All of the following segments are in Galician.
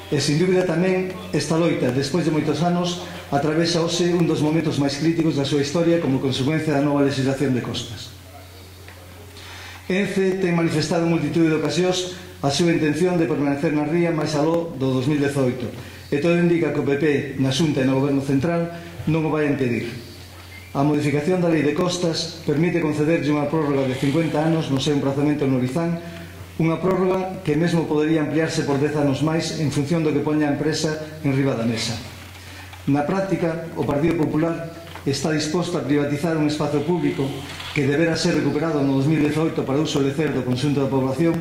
E, sin dúbida, tamén esta loita, despois de moitos anos, atravesa hoxe un dos momentos máis críticos da súa historia como consecuencia da nova legislación de costas. ENCE ten manifestado en multitude de ocasións a súa intención de permanecer na ría máis aló do 2018 e todo indica que o PP na Xunta e no Goberno Central non o vai impedir. A modificación da Lei de Costas permite concederlle unha prórroga de 50 anos no seu emprazamento no Orizán, unha prórroga que mesmo podería ampliarse por 10 anos máis en función do que poña a empresa en riba da mesa. Na práctica, o Partido Popular está disposto a privatizar un espazo público que deberá ser recuperado no 2018 para uso de lecer do conxunto da población,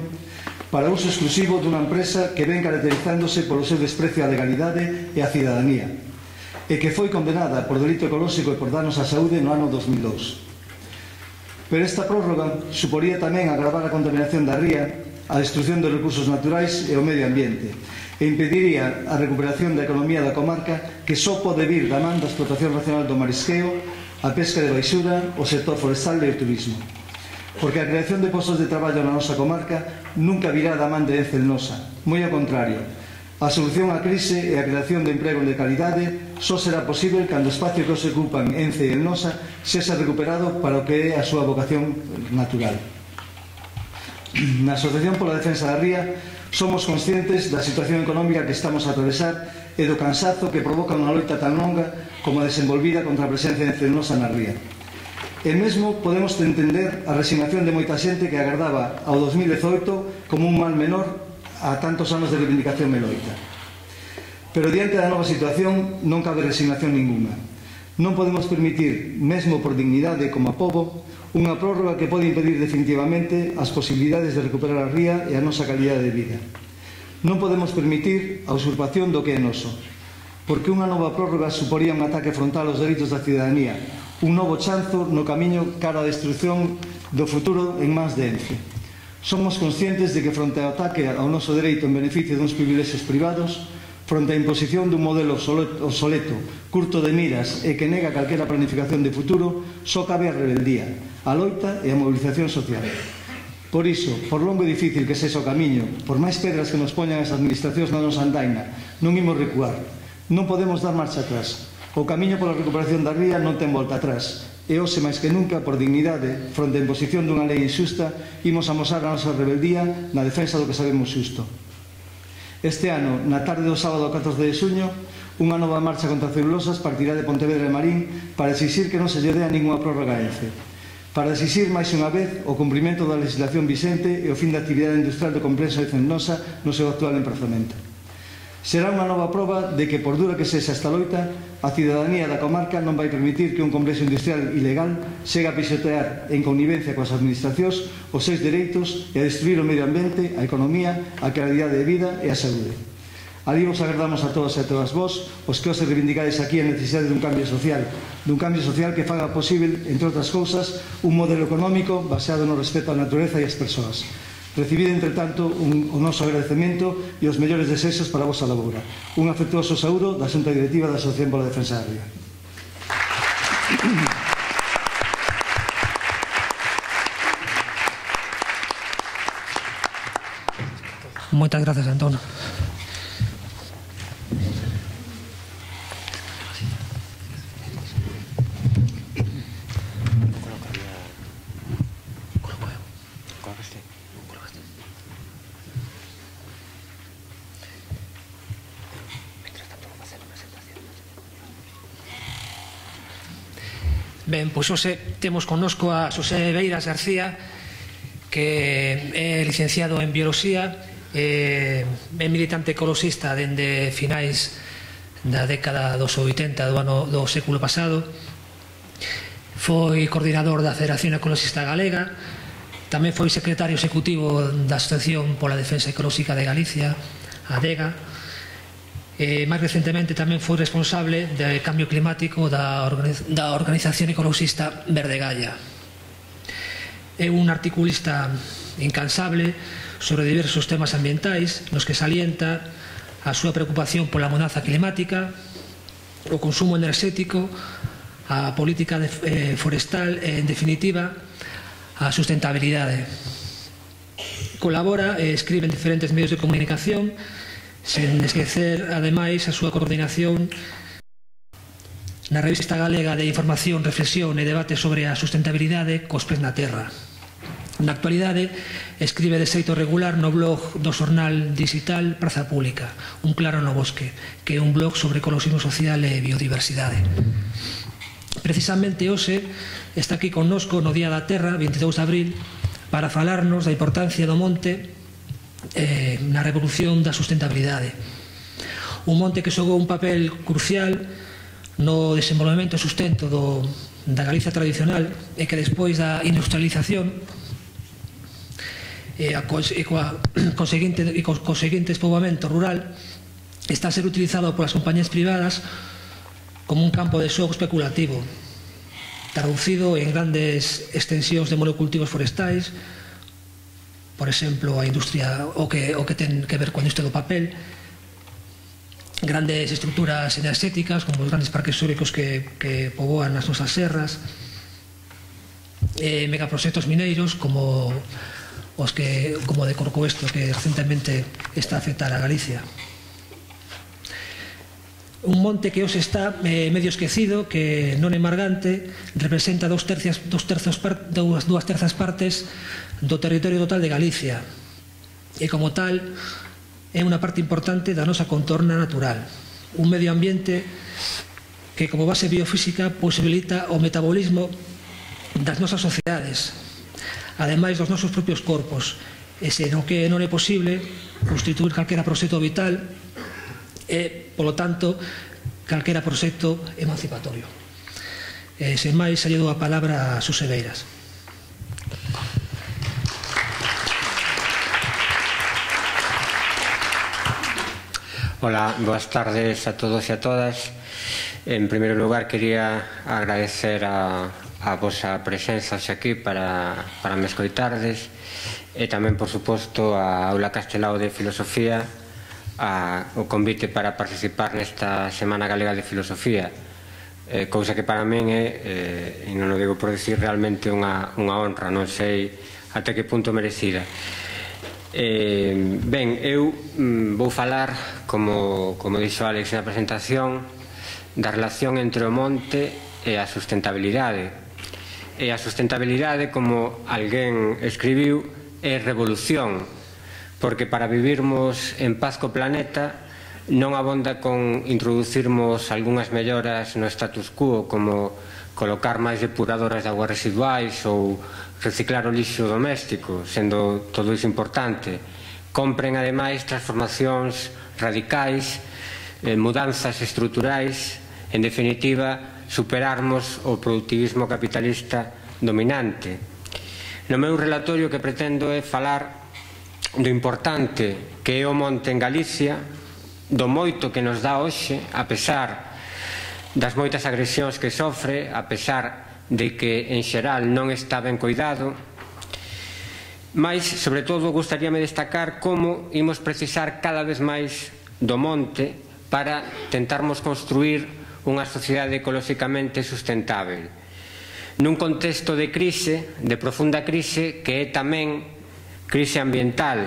para uso exclusivo dunha empresa que ven caracterizándose polo seu desprecio á legalidade e á cidadanía, e que foi condenada por delito ecolóxico e por danos á saúde no ano 2002. Pero esta prórroga suporía tamén agravar a contaminación da ría, a destrucción dos recursos naturais e o medio ambiente, e impediría a recuperación da economía da comarca que só pode vir da man da explotación racional do marisqueo, a pesca de baixura, o sector forestal e o turismo. Porque a creación de postos de traballo na nosa comarca nunca virá da man de ENCE Nosa, moi ao contrario. A solución á crise e a creación de emprego de calidade só será posible cando o espacio que os ocupan ENCE e Nosa sexa recuperado para o que é a súa vocación natural. Na Asociación pola Defensa da Ría somos conscientes da situación económica que estamos a atravesar e do cansazo que provoca unha loita tan longa como a desenvolvida contra a presencia de Nosa na ría. E mesmo podemos entender a resignación de moita xente que agardaba ao 2018 como un mal menor a tantos anos de reivindicación e loita. Pero diante da nova situación non cabe resignación ninguna. Non podemos permitir, mesmo por dignidade como a pobo, unha prórroga que pode impedir definitivamente as posibilidades de recuperar a ría e a nosa calidade de vida. Non podemos permitir a usurpación do que é noso, porque unha nova prórroga suporía un ataque frontal aos dereitos da cidadanía, un novo chanzo no camiño cara á destrucción do futuro en mans de ENCE. Somos conscientes de que fronte ao ataque ao noso dereito en beneficio duns privilexios privados, fronte á imposición dun modelo obsoleto, curto de miras e que nega calquera planificación de futuro, só cabe a rebeldía, a loita e a mobilización social. Por iso, por longo e difícil que sexa o camiño, por máis pedras que nos poñan as administracións na nosa andaina, non imos recuar, non podemos dar marcha atrás. O camiño pola recuperación da ría non ten volta atrás, e hoxe máis que nunca, por dignidade, fronte á imposición dunha lei injusta, imos amosar a nosa rebeldía na defensa do que sabemos xusto. Este ano, na tarde do sábado 14 de xuño, unha nova marcha contra celulosas partirá de Pontevedra e Marín para exixir que non se lle dea ninguna prórroga a ENCE, para exixir máis unha vez o cumprimento da legislación vixente e o fin da actividade industrial do complexo de Nosa no seu actual emprazamento. Será unha nova proba de que, por dura que sexa esta loita, a cidadanía da comarca non vai permitir que un complexo industrial ilegal chega a pisotear en connivencia coas administracións os seus dereitos e a destruir o medio ambiente, a economía, a calidade de vida e a saúde. Ali vos agardamos a todos e a todas vos, os que os reivindicades aquí a necesidade dun cambio social que faga posible, entre outras cousas, un modelo económico baseado no respeto á natureza e ás persoas. Recibid, entre tanto, o noso agradecemento e os mellores desexos para a vosa labora. Un afectuoso saúdo da Xunta Directiva da Asociación pola Defensa da Ría. Moitas grazas, Antón. Ben, pois hoxe temos connosco a Xosé Beiras García, que é licenciado en Bioloxía, é militante ecoloxista dende finais da década dos 80 do século pasado, foi coordinador da Federación Ecoloxista Galega, tamén foi secretario executivo da Asociación pola Defensa Ecolóxica de Galicia, ADEGA, e máis recentemente tamén foi responsable do cambio climático da organización ecoloxista Verde Gaia. É un articulista incansable sobre diversos temas ambientais nos que salienta a súa preocupación pola mudanza climática, o consumo enerxético, a política forestal e, en definitiva, a sustentabilidade. Colabora e escribe en diferentes medios de comunicación, sen esquecer, ademais, a súa coordinación na Revista Galega de Información, Reflexión e Debate sobre a Sustentabilidade cos pés na terra. Na actualidade, escribe de xeito regular no blog do xornal digital Praza Pública, Un claro no bosque, que é un blog sobre ecoloxismo social e biodiversidade. Precisamente hoxe está aquí connosco no Día da Terra, 22 de abril, para falarnos da importancia do monte na revolución da sustentabilidade. Un monte que xogou un papel crucial no desenvolvemento e sustento da Galicia tradicional e que despois da industrialización e co seguinte despoboamento rural está a ser utilizado polas compañías privadas como un campo de xogo especulativo, traducido en grandes extensións de monocultivos forestais, por exemplo, a industria o que ten que ver coa industria do papel, grandes estructuras enerxéticas como os grandes parques eólicos que poboan as nosas serras, megaproxectos mineiros como de Corcoesto, que recentemente está a afectar a Galicia. Un monte que hoxe está medio esquecido, que non é margante, representa dúas terzas partes do territorio total de Galicia e, como tal, é unha parte importante da nosa contorna natural, un medio ambiente que como base biofísica posibilita o metabolismo das nosas sociedades, ademais dos nosos propios corpos, e senón que non é posible constituir calquera proxecto vital e, polo tanto, calquera proxecto emancipatorio. Sen máis, lle dou a palabra a Xosé Beiras. Hola, boas tardes a todos e a todas. En primeiro lugar, quería agradecer a vosa presenza aquí para me escoitardes e tamén, por suposto, a Aula Castelao de Filosofía o convite para participar nesta Semana Galega de Filosofía, cousa que para min é, e non o digo por decir, realmente unha honra, non sei até que punto merecida. Ben, eu vou falar, como dixo Alex na presentación, da relación entre o monte e a sustentabilidade. E a sustentabilidade, como alguén escribiu, é revolución, porque para vivirmos en paz co planeta non abonda con introducirmos algunhas melloras no status quo, como colocar máis depuradoras de aguas residuais ou reciclar o lixo doméstico, sendo todo iso importante. Compren, ademais, transformacións radicais, mudanzas estruturais, en definitiva, superarmos o productivismo capitalista dominante. No meu relatorio que pretendo é falar do importante que é o monte en Galicia, do moito que nos dá hoxe, a pesar das moitas agresións que sofre, a pesar de que en xeral non está ben coidado, mas, sobre todo, gustaríame destacar como imos precisar cada vez máis do monte para tentarmos construir unha sociedade ecolóxicamente sustentável. Nun contexto de crise, de profunda crise, que é tamén crise ambiental,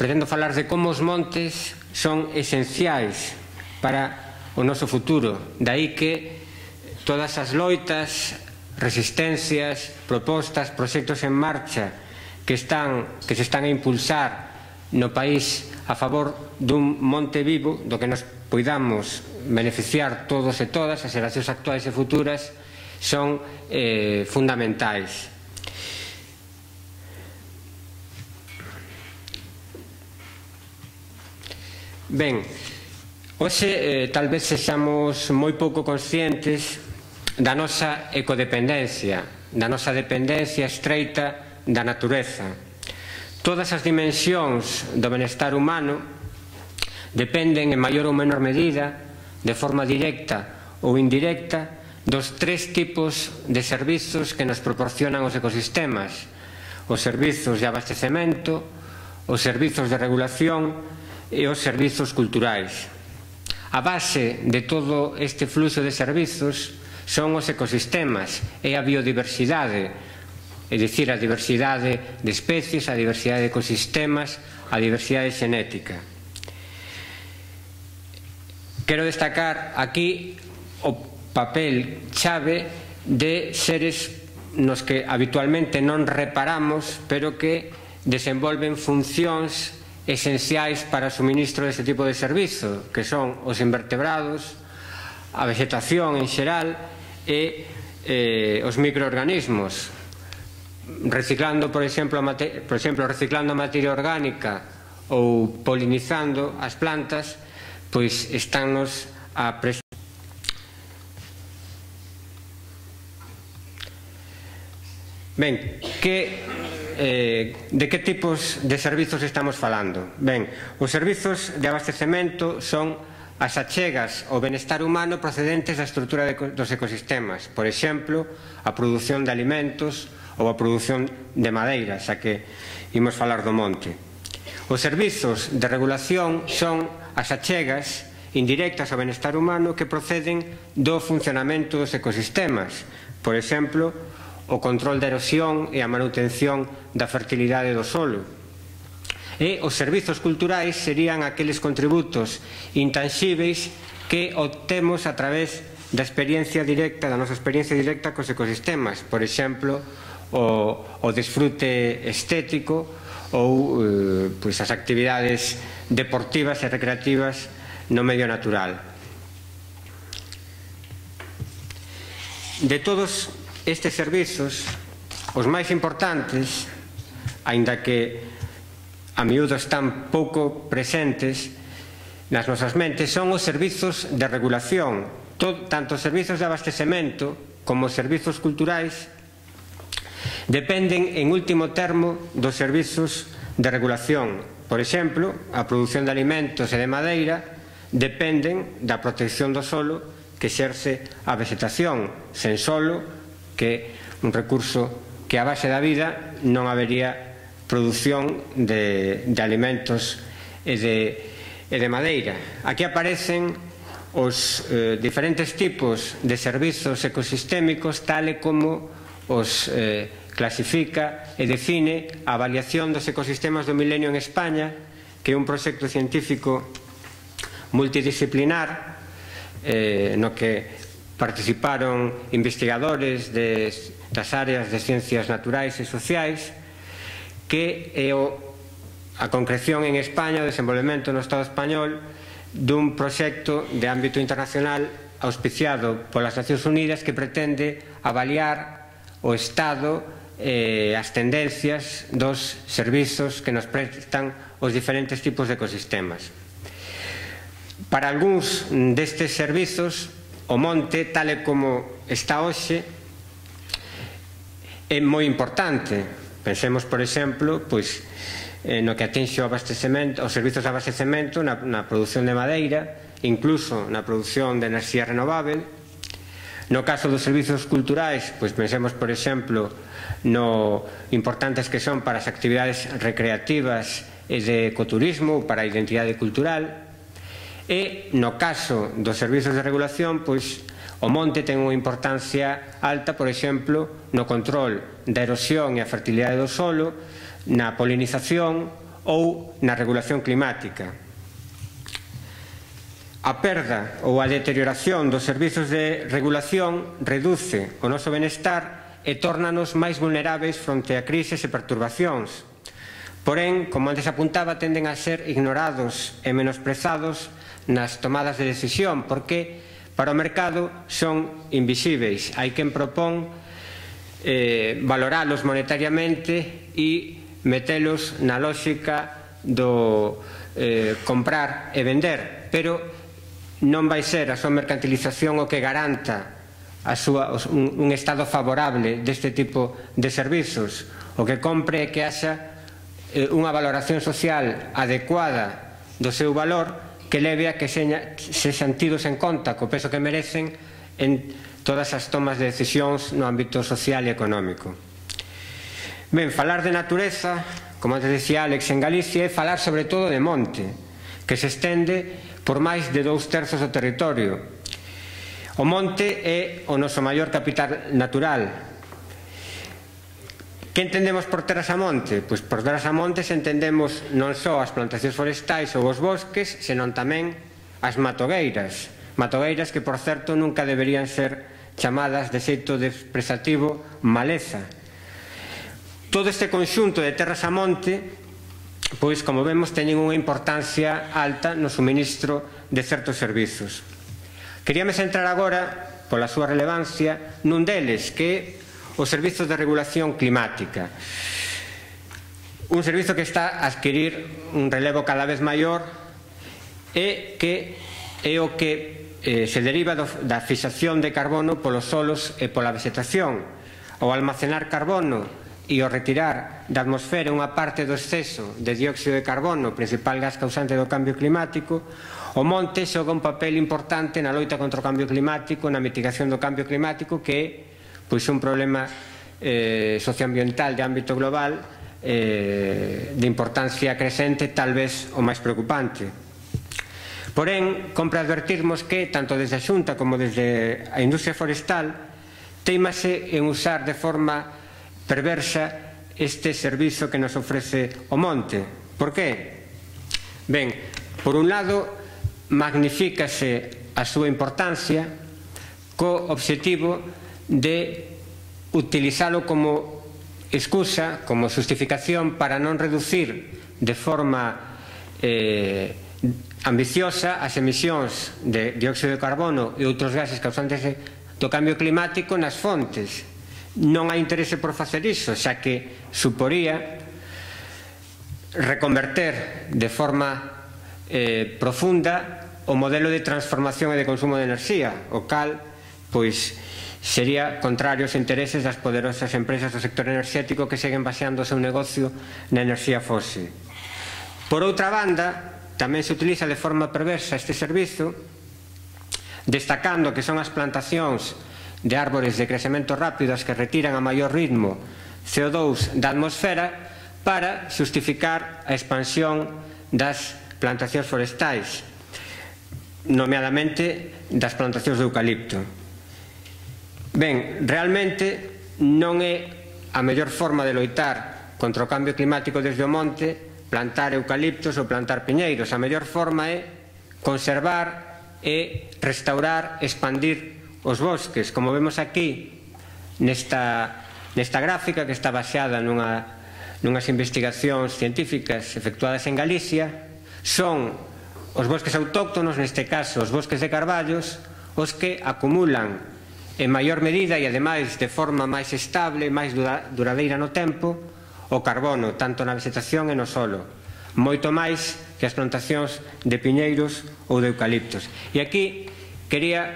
pretendo falar de como os montes son esenciais para o noso futuro, daí que todas as loitas, resistencias, propostas, proxectos en marcha que se están a impulsar no país a favor dun monte vivo do que nos poidamos beneficiar todos e todas, as xeracións actuais e futuras, son fundamentais. Ben, hoxe tal vez sexamos moi pouco conscientes da nosa ecodependencia, da nosa dependencia estreita da natureza. Todas as dimensións do benestar humano dependen en maior ou menor medida, de forma directa ou indirecta, dos tres tipos de servizos que nos proporcionan os ecosistemas: os servizos de abastecemento, os servizos de regulación e os servizos culturais. A base de todo este fluxo de servizos son os ecosistemas e a biodiversidade, é dicir, a diversidade de especies, a diversidade de ecosistemas a diversidade xenética. Quero destacar aquí o papel chave de seres nos que habitualmente non reparamos, pero que desenvolven funcións esenciais para o suministro deste tipo de servizo, que son os invertebrados, a vegetación en xeral e os microorganismos. Reciclando, por exemplo, reciclando materia orgánica ou polinizando as plantas, pois estánnos a prestar. Ben, de que tipos de servizos estamos falando? Ben, os servizos de abastecemento son as achegas ao benestar humano procedentes da estrutura dos ecosistemas, por exemplo, a produción de alimentos ou a produción de madeira, xa que imos falar do monte. Os servizos de regulación son as achegas indirectas ao benestar humano que proceden do funcionamento dos ecosistemas, por exemplo, o control da erosión e a manutención da fertilidade do solo. E os servizos culturais serían aqueles contributos intanxíveis que obtemos a través da experiencia directa, da nosa experiencia directa cos ecosistemas, por exemplo, o desfrute estético ou as actividades deportivas e recreativas no medio natural. De todos estes servizos, os máis importantes, aínda que a miúdo están pouco presentes nas nosas mentes, son os servizos de regulación. Tanto os servizos de abastecemento como os servizos culturais dependen, en último termo, dos servizos de regulación. Por exemplo, a produción de alimentos e de madeira dependen da protección do solo que exerce a vegetación. Sen solo, que é un recurso que a base da vida non habería produción de alimentos e de madeira. Aquí aparecen os diferentes tipos de servizos ecosistémicos tal e como os clasifica e define a avaliación dos ecosistemas do milenio en España, que é un proxecto científico multidisciplinar no que participaron investigadores das áreas de ciencias naturais e sociais, que é a concreción en España, o desenvolvemento no Estado español dun proxecto de ámbito internacional auspiciado polas Nacións Unidas que pretende avaliar o estado e as tendencias dos servizos que nos prestan os diferentes tipos de ecosistemas. Para algúns destes servizos, o monte, tal e como está hoxe, é moi importante. Pensemos, por exemplo, no que atinxe os servizos de abastecemento na produción de madeira, incluso na produción de enerxía renovável. No caso dos servizos culturais, pensemos, por exemplo, no importantes que son para as actividades recreativas e de ecoturismo, para a identidade cultural. E no caso dos servizos de regulación, o monte ten unha importancia alta, por exemplo, no control da erosión e a fertilidade do solo, na polinización ou na regulación climática. A perda ou a deterioración dos servizos de regulación reduce o noso benestar e tórnanos máis vulneráveis fronte a crises e perturbacións. Porén, como antes apuntaba, tenden a ser ignorados e menosprezados nas tomadas de decisión, porque para o mercado son invisíveis. Hai quen propón valoralos monetariamente e metelos na lógica do comprar e vender, pero non vai ser a súa mercantilización o que garanta un estado favorable deste tipo de servizos. O que compre é que haxa unha valoración social adecuada do seu valor, que leve a que sexan tidos en conta co peso que merecen en todas as tomas de decisións no ámbito social e económico. Ben, falar de natureza, como antes decía Alex, en Galicia, é falar sobre todo de monte, que se estende por máis de 2/3 do territorio. O monte é o noso maior capital natural. Que entendemos por terras a monte? Pois por terras a montes entendemos non só as plantacións forestais ou os bosques, senón tamén as matogueiras. Matogueiras que, por certo, nunca deberían ser chamadas de xeito desprezativo maleza. Todo este conxunto de terras a monte, pois, como vemos, teñen unha importancia alta no suministro de certos servizos. Queríame centrar agora, pola súa relevancia, nun deles, que é o Servizo de Regulación Climática. Un servizo que está a adquirir un relevo cada vez maior e que é o que se deriva da fixación de carbono polos solos e pola vegetación. Ao almacenar carbono e ao retirar da atmosfera unha parte do exceso de dióxido de carbono, principal gas causante do cambio climático, o monte xoga un papel importante na loita contra o cambio climático, na mitigación do cambio climático, que é pois un problema socioambiental de ámbito global de importancia crecente, tal vez o máis preocupante. Porén, compre advertirmos que, tanto desde a Xunta como desde a industria forestal, teimase en usar de forma perversa este servizo que nos ofrece o monte. Por qué? Ben, por un lado, magnifícase a súa importancia co obxectivo de utilizalo como excusa, como justificación para non reducir de forma ambiciosa as emisións de dióxido de carbono e outros gases causantes do cambio climático nas fontes. Non hai interese por facer iso, xa que suporía reconverter de forma profunda o modelo de transformación e de consumo de enerxía, o cal, pois, sería contrario aos intereses das poderosas empresas do sector enerxético que seguen baseando o seu negocio na enerxía fósil. Por outra banda, tamén se utiliza de forma perversa este servizo, destacando que son as plantacións de árbores de crecemento rápido as que retiran a maior ritmo CO2 da atmosfera para justificar a expansión das plantacións forestais, nomeadamente das plantacións de eucalipto. Ben, realmente non é a mellor forma de loitar contra o cambio climático desde o monte plantar eucaliptos ou plantar piñeiros. A mellor forma é conservar e restaurar, expandir os bosques. Como vemos aquí nesta gráfica, que está baseada nunhas investigacións científicas efectuadas en Galicia, son os bosques autóctonos, neste caso os bosques de carballos, os que acumulan en maior medida e ademais de forma máis estable, máis duradeira no tempo, o carbono, tanto na vegetación e no solo, moito máis que as plantacións de piñeiros ou de eucaliptos. E aquí quería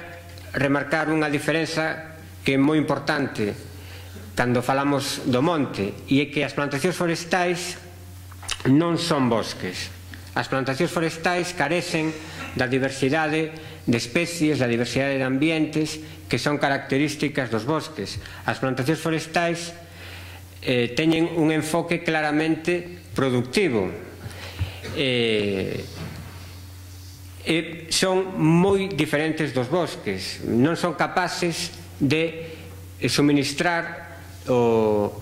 remarcar unha diferenza que é moi importante cando falamos do monte, e é que as plantacións forestais non son bosques. As plantacións forestais carecen da diversidade de especies, da diversidade de ambientes que son características dos bosques. As plantacións forestais teñen un enfoque claramente productivo e son moi diferentes dos bosques. Non son capaces de suministrar o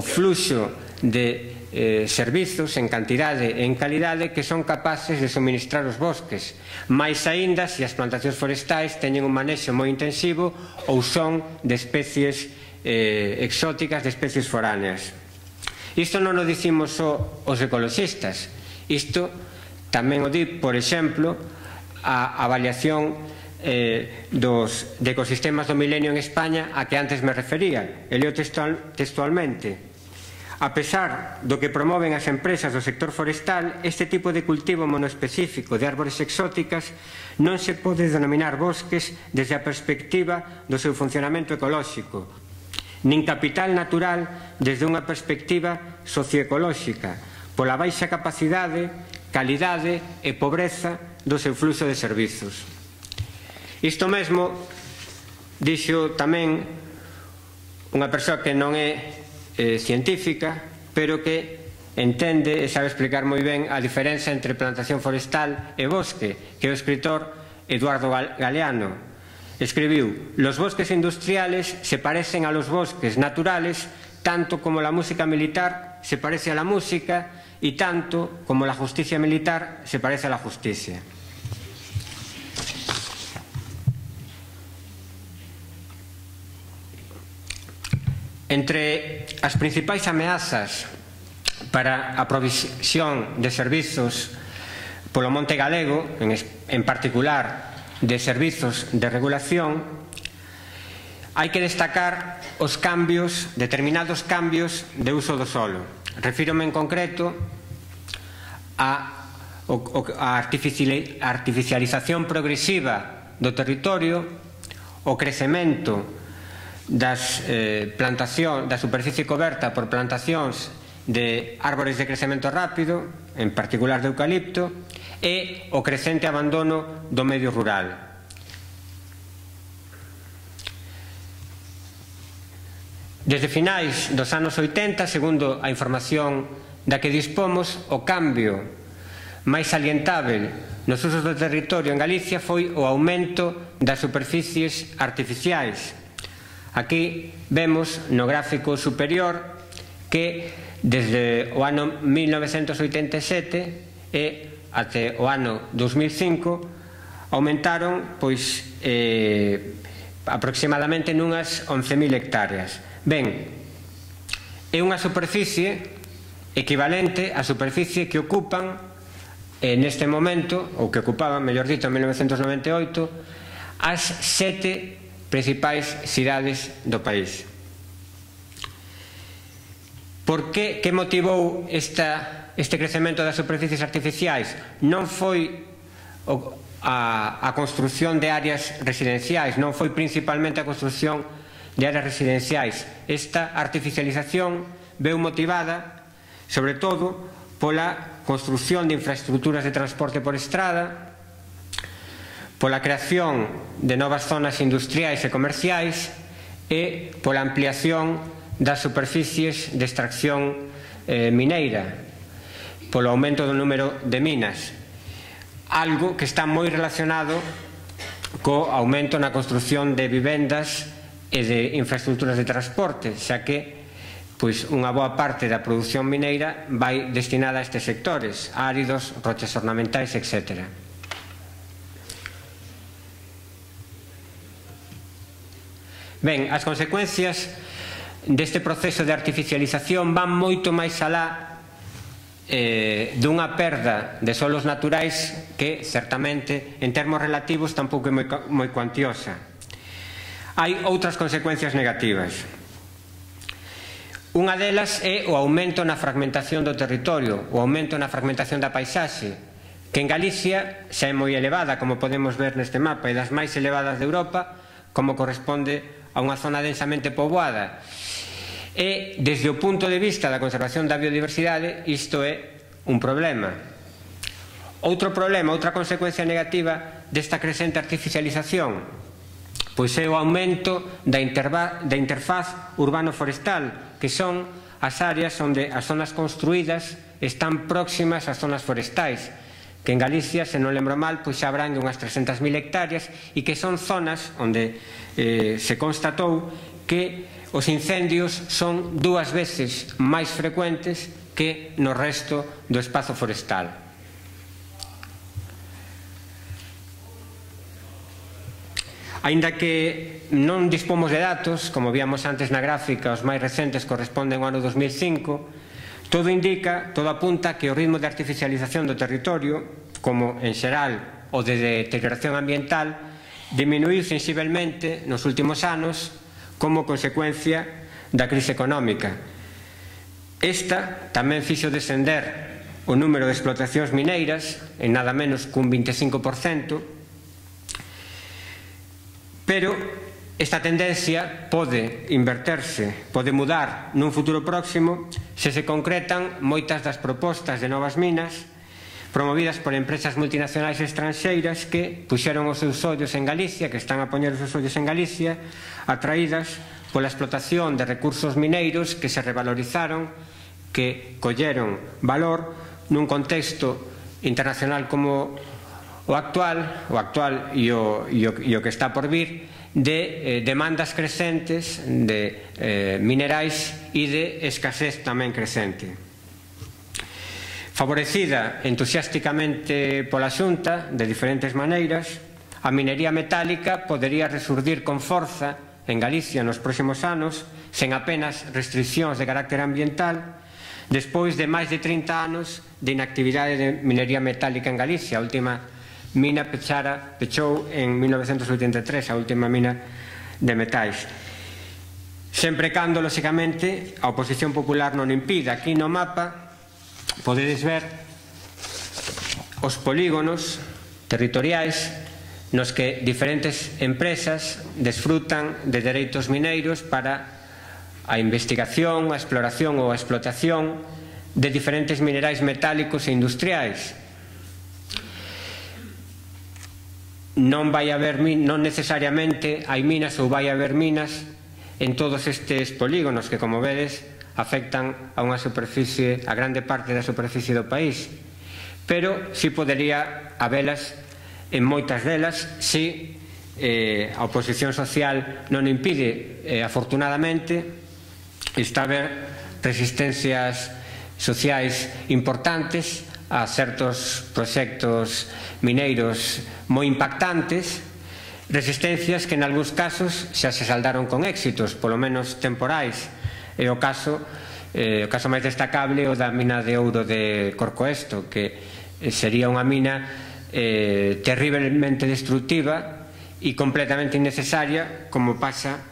fluxo de servizos en cantidade e en calidade que son capaces de suministrar os bosques, máis aínda se as plantacións forestais teñen un manexo moi intensivo ou son de especies exóticas, de especies foráneas. Isto non o dicimos só os ecoloxistas, isto tamén o di, por exemplo, a avaliación dos ecosistemas do milenio en España a que antes me refería. E leo textualmente: a pesar do que promoven as empresas do sector forestal, este tipo de cultivo monoespecífico de árbores exóticas non se pode denominar bosques desde a perspectiva do seu funcionamento ecolóxico, nin capital natural desde unha perspectiva socioecolóxica, pola baixa capacidade, calidade e pobreza do seu fluxo de servizos. Isto mesmo dixo tamén unha persoa que non é científica, pero que entende e sabe explicar moi ben a diferenza entre plantación forestal e bosque, que é o escritor Eduardo Galeano. Escribiu: los bosques industriales se parecen a los bosques naturales tanto como la música militar se parece a la música y tanto como la justicia militar se parece a la justicia. Entre as principais ameazas para a provisión de servizos polo monte galego, en particular de servizos de regulación, hai que destacar os cambios, determinados cambios de uso do solo. Refírome en concreto a artificialización progresiva do territorio, o crecemento da superficie coberta por plantacións de árbores de crecemento rápido, en particular de eucalipto, e o crecente abandono do medio rural. Desde finais dos anos 80, segundo a información da que dispomos, o cambio máis salientável nos usos do territorio en Galicia foi o aumento das superficies artificiais. Aquí vemos no gráfico superior que desde o ano 1987 e até o ano 2005 aumentaron aproximadamente nunhas 11.000 hectáreas. Ben, é unha superficie equivalente á superficie que ocupan neste momento, ou que ocupaban, mellor dito, en 1998, as 7 principais cidades do país. Por que motivou este crecemento das superficies artificiais? Non foi a construción de áreas residenciais, non foi principalmente a construción de áreas residenciais. Esta artificialización veu motivada, sobre todo, pola construción de infraestructuras de transporte por estrada, pola creación de novas zonas industriais e comerciais e pola ampliación das superficies de extracción mineira, polo aumento do número de minas, algo que está moi relacionado co aumento na construción de vivendas e de infraestructuras de transporte, xa que unha boa parte da produción mineira vai destinada a estes sectores, áridos, rochas ornamentais, etc. Ben, as consecuencias deste proceso de artificialización van moito máis alá dunha perda de solos naturais que, certamente, en termos relativos tampouco é moi cuantiosa. Hai outras consecuencias negativas. Unha delas é o aumento na fragmentación do territorio, o aumento na fragmentación da paisaxe, que en Galicia xa é moi elevada, como podemos ver neste mapa, e das máis elevadas de Europa, como corresponde a unha zona densamente poboada. E, desde o punto de vista da conservación da biodiversidade, isto é un problema. Outro problema, outra consecuencia negativa desta crecente artificialización, pois é o aumento da interfaz urbano-forestal, que son as áreas onde as zonas construídas están próximas ás zonas forestais, que en Galicia, se non lembro mal, pois xa abrangue unhas 300.000 hectáreas e que son zonas onde se constatou que os incendios son 2 veces máis frecuentes que no resto do espazo forestal. Aínda que non dispomos de datos, como víamos antes na gráfica, os máis recentes corresponden ao ano 2005, todo indica, todo apunta que o ritmo de artificialización do territorio, como en xeral o de deterioración ambiental, diminuiu sensiblemente nos últimos anos como consecuencia da crise económica. Esta tamén fixo descender o número de explotacións mineiras en nada menos cun 25%, pero esta tendencia pode inverterse, pode mudar nun futuro próximo se se concretan moitas das propostas de novas minas promovidas por empresas multinacionais estranxeiras que puxeron os seus ollos en Galicia, que están a poñer os seus ollos en Galicia, atraídas pola explotación de recursos mineiros que se revalorizaron, que colleron valor nun contexto internacional como o actual e o que está por vir, de demandas crecentes de minerais e de escasez tamén crecente. Favorecida entusiásticamente pola Xunta de diferentes maneiras, a minería metálica podería resurdir con forza en Galicia nos próximos anos, sen apenas restriccións de carácter ambiental, despois de máis de 30 anos de inactividade de minería metálica en Galicia. A última mina pechou en 1983, a última mina de metais. Sempre cando, lóxicamente, a oposición popular non impida. Aquí no mapa podedes ver os polígonos territoriais nos que diferentes empresas desfrutan de dereitos mineiros para a investigación, a exploración ou a explotación de diferentes minerais metálicos e industriais. Non necesariamente hai minas ou vai haber minas en todos estes polígonos que, como vedes, afectan a unha superficie, a grande parte da superficie do país, pero si podería habelas en moitas delas se a oposición social non impide. Afortunadamente está a haber resistencias sociais importantes a certos proxectos mineiros moi impactantes, resistencias que en algúns casos xa se saldaron con éxitos, polo menos temporais. É o caso máis destacable o da mina de ouro de Corcoesto, que sería unha mina terriblemente destructiva e completamente innecesaria, como pasa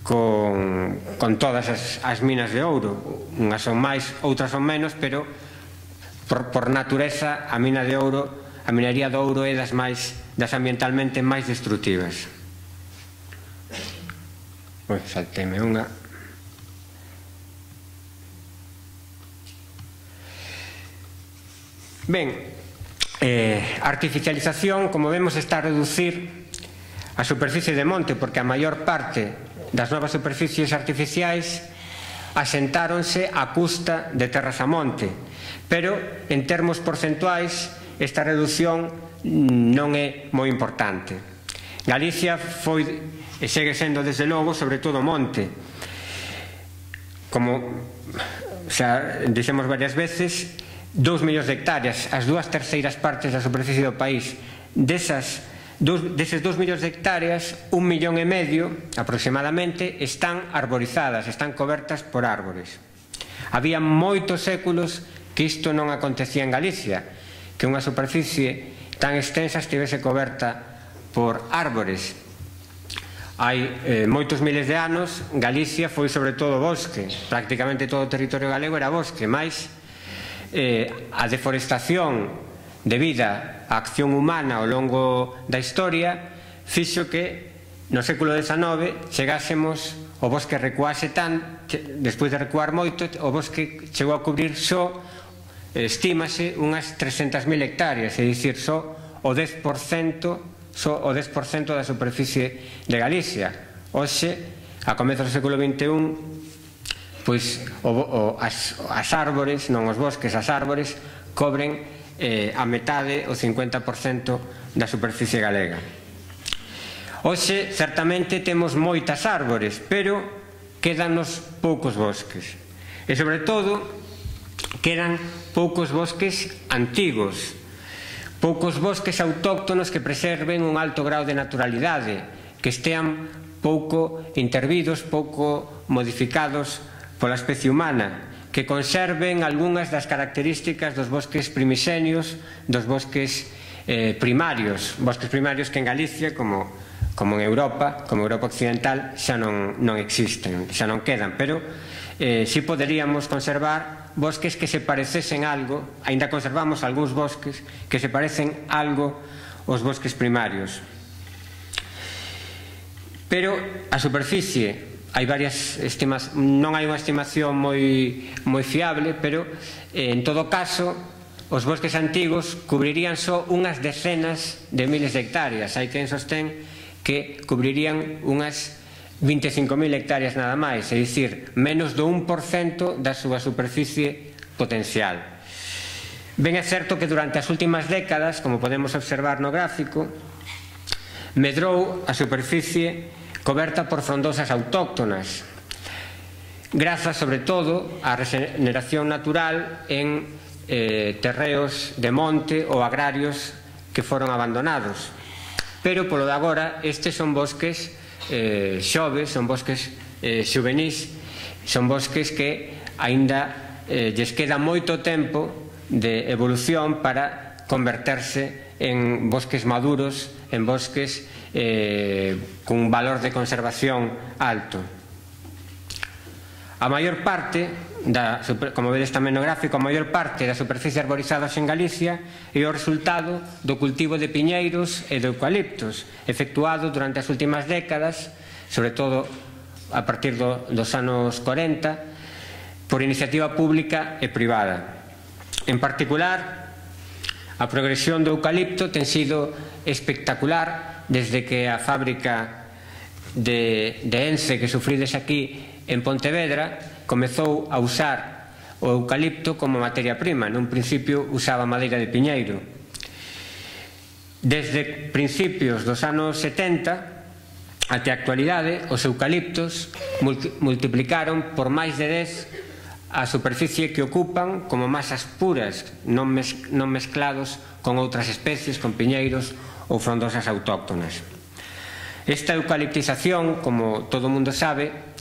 con todas as minas de ouro. Unhas son máis, outras son menos, pero por natureza a mina de ouro, a minería do ouro é das ambientalmente máis destructivas. Salteme unha. Ben, a artificialización, como vemos, está a reducir a superficie de monte, porque a maior parte das novas superficies artificiais asentáronse a custa de terras a monte, pero en termos porcentuais esta reducción non é moi importante. Galicia foi e segue sendo, desde logo, sobre todo monte. Como xa dixemos varias veces, 2 millóns de hectáreas, as 2/3 partes da superficie do país. Deses 2 millóns de hectáreas, 1,5 millón aproximadamente están arborizadas, están cobertas por árbores. Había moitos séculos que isto non acontecía en Galicia, que unha superficie tan extensa estivese coberta por árbores. Hai moitos miles de anos Galicia foi sobre todo bosque, prácticamente todo o territorio galego era bosque, mais a deforestación debida á acción humana ao longo da historia fixo que no século XIX chegásemos, o bosque recuase despois de recuar moito, o bosque chegou a cubrir só, estímase, unhas 300.000 hectáreas, é dicir, só o 10% da superficie de Galicia. Hoxe, a comezos do século XXI, pois as árbores, non os bosques, as árbores cobren a metade, o 50% da superficie galega. Hoxe, certamente, temos moitas árbores, pero quédanos poucos bosques. E, sobre todo, quedan poucos bosques antigos, poucos bosques autóctonos que preserven un alto grau de naturalidade, que estean pouco intervidos, pouco modificados pola especie humana, que conserven algunhas das características dos bosques primixenios, dos bosques primarios que en Galicia, como en Europa, como Europa occidental, xa non existen, xa non quedan, pero si poderíamos conservar bosques que se parecesen algo, aínda conservamos algúns bosques que se parecen algo aos bosques primarios. Pero a superficie, hai varias estimacións, non hai unha estimación moi fiable, pero en todo caso os bosques antigos cubrirían só unhas decenas de miles de hectáreas. Hai quen sostén que cubrirían unhas 25.000 hectáreas nada máis, é dicir, menos do 1% da súa superficie potencial. Ben é certo que durante as últimas décadas, como podemos observar no gráfico, medrou a superficie coberta por frondosas autóctonas, grazas sobre todo á regeneración natural en terreos de monte ou agrarios que foron abandonados. Pero, polo de agora, estes son bosques xoves, son bosques xuvenís, son bosques que aínda lles queda moito tempo de evolución para converterse en bosques maduros, en bosques cun valor de conservación alto. A maior parte, como vedes tamén no gráfico, a maior parte das superficies arborizadas en Galicia é o resultado do cultivo de piñeiros e de eucaliptos, efectuado durante as últimas décadas, sobre todo a partir dos anos 40, por iniciativa pública e privada. En particular, a progresión do eucalipto ten sido espectacular desde que a fábrica de Ence que sufrides aquí en Pontevedra comezou a usar o eucalipto como materia prima. Nun principio usaba madeira de piñeiro. Desde principios dos anos 70 até a actualidade, os eucaliptos multiplicaron por máis de 10 a superficie que ocupan como masas puras, non mezclados con outras especies, con piñeiros ou frondosas autóctonas. Esta eucaliptización, como todo o mundo sabe,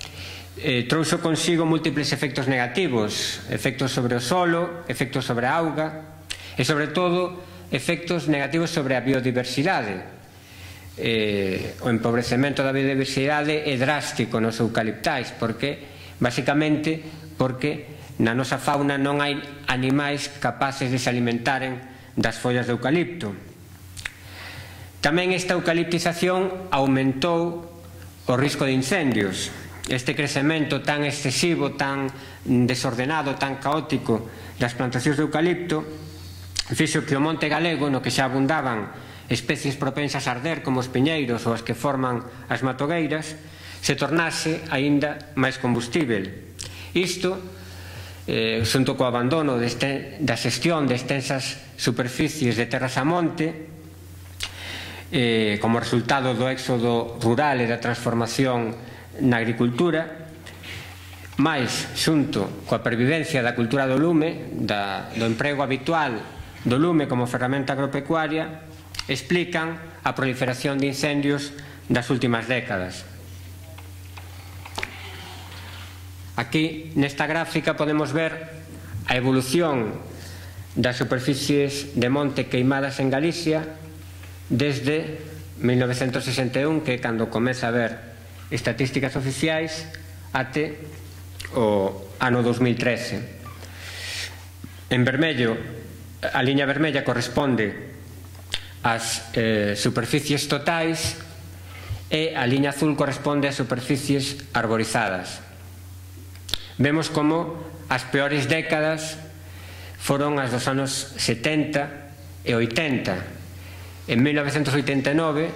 trouxo consigo múltiples efectos negativos, efectos sobre o solo, efectos sobre a auga e, sobre todo, efectos negativos sobre a biodiversidade. O empobrecemento da biodiversidade é drástico nos eucaliptais, basicamente porque na nosa fauna non hai animais capaces de se alimentaren das follas de eucalipto. Tamén esta eucaliptización aumentou o risco de incendios. Este crecemento tan excesivo, tan desordenado, tan caótico das plantacións de eucalipto fixo que o monte galego, no que xa abundaban especies propensas a arder como os piñeiros ou as que forman as matogueiras, se tornase aínda máis combustível. Isto, xunto co abandono da xestión de extensas superficies de terras a monte, como resultado do éxodo rural e da transformación na agricultura, máis xunto coa pervivencia da cultura do lume, do emprego habitual do lume como ferramenta agropecuaria, explican a proliferación de incendios das últimas décadas. Aquí, nesta gráfica, podemos ver a evolución das superficies de monte queimadas en Galicia desde 1961, que é cando comeza a haber estatísticas oficiais, até o ano 2013. En vermello, a liña vermella corresponde ás superficies totais e a liña azul corresponde ás superficies arborizadas. Vemos como as peores décadas foron as dos anos 70 e 80. En 1989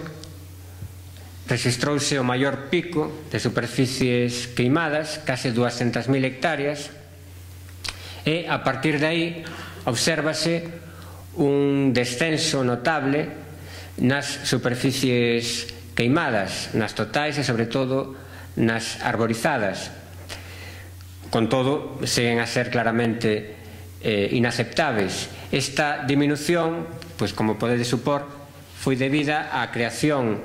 rexistrouse o maior pico de superficies queimadas, case 200.000 hectáreas, e a partir de aí obsérvase un descenso notable nas superficies queimadas, nas totais e sobre todo nas arborizadas. Con todo, seguen a ser claramente inaceptables. Esta diminución, pois como podedes supor, foi debida á creación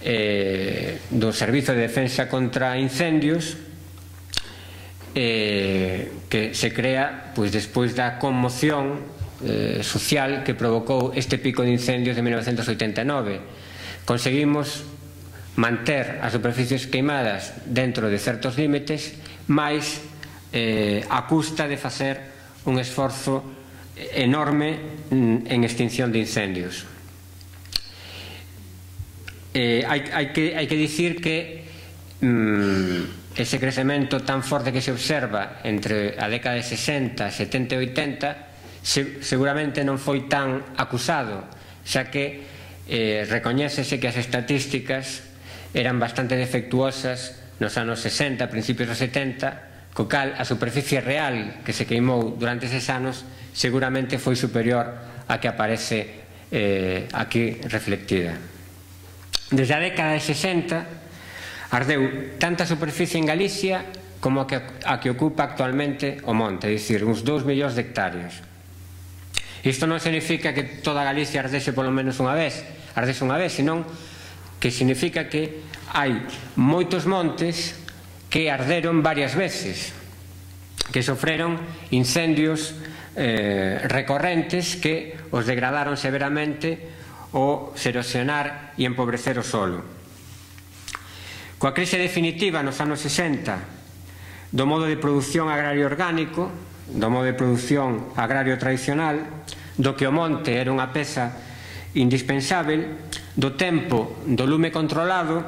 do Servizo de Defensa contra Incendios, que se crea despois da conmoción social que provocou este pico de incendios de 1989. Conseguimos manter as superficies queimadas dentro de certos límites, mais a custa de facer un esforzo enorme en extinción de incendios. Hai que dicir que ese crecemento tan forte que se observa entre a década de 60, 70 e 80 seguramente non foi tan acusado, xa que recoñécese que as estatísticas eran bastante defectuosas nos anos 60, principios dos 70, co cal a superficie real que se queimou durante eses anos seguramente foi superior a que aparece aquí reflectida. Desde a década de 60 ardeu tanta superficie en Galicia como a que ocupa actualmente o monte, é dicir, uns 2 millóns de hectáreas. Isto non significa que toda Galicia ardese polo menos unha vez, senón que significa que hai moitos montes que arderon varias veces, que sofreron incendios recorrentes que os degradaron severamente ao se erosionar e empobrecer o solo. Coa crise definitiva nos anos 60 do modo de produción agrario orgánico, do modo de produción agrario tradicional, do que o monte era unha peza indispensável, do tempo do lume controlado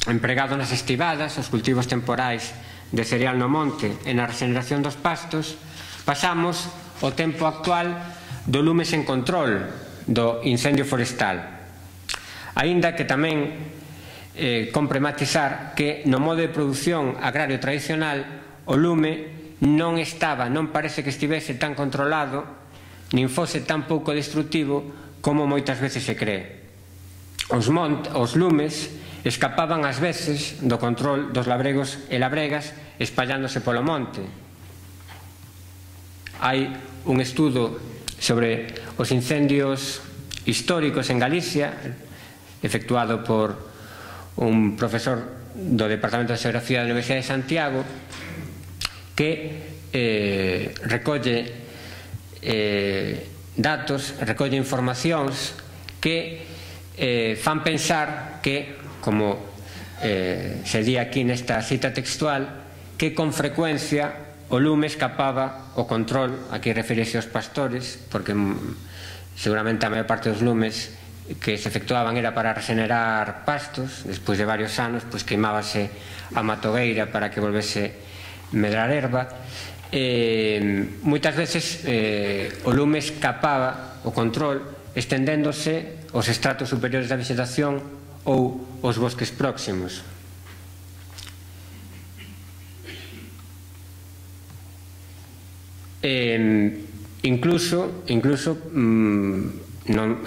empregado nas estivadas, os cultivos temporais de cereal no monte e na regeneración dos pastos, pasamos ao tempo actual do lume sen control, do incendio forestal. Aínda que tamén compre matizar que no modo de produción agrario tradicional o lume non parece que estivese tan controlado nin fose tan pouco destrutivo como moitas veces se cree. Os lumes escapaban ás veces do control dos labregos e labregas espallándose polo monte. Hai un estudo sobre os incendios históricos en Galicia, efectuado por un profesor do Departamento de Xeografía da Universidade de Santiago, que recolle datos, recolle informacións que fan pensar que, como se di aquí nesta cita textual, que con frecuencia o lume escapaba o control, aquí refírese aos pastores, porque seguramente a maior parte dos lumes que se efectuaban era para regenerar pastos, despois de varios anos queimábase a matogueira para que volvese medrar erva. Moitas veces o lume escapaba o control estendéndose aos estratos superiores da vegetación ou aos bosques próximos. Incluso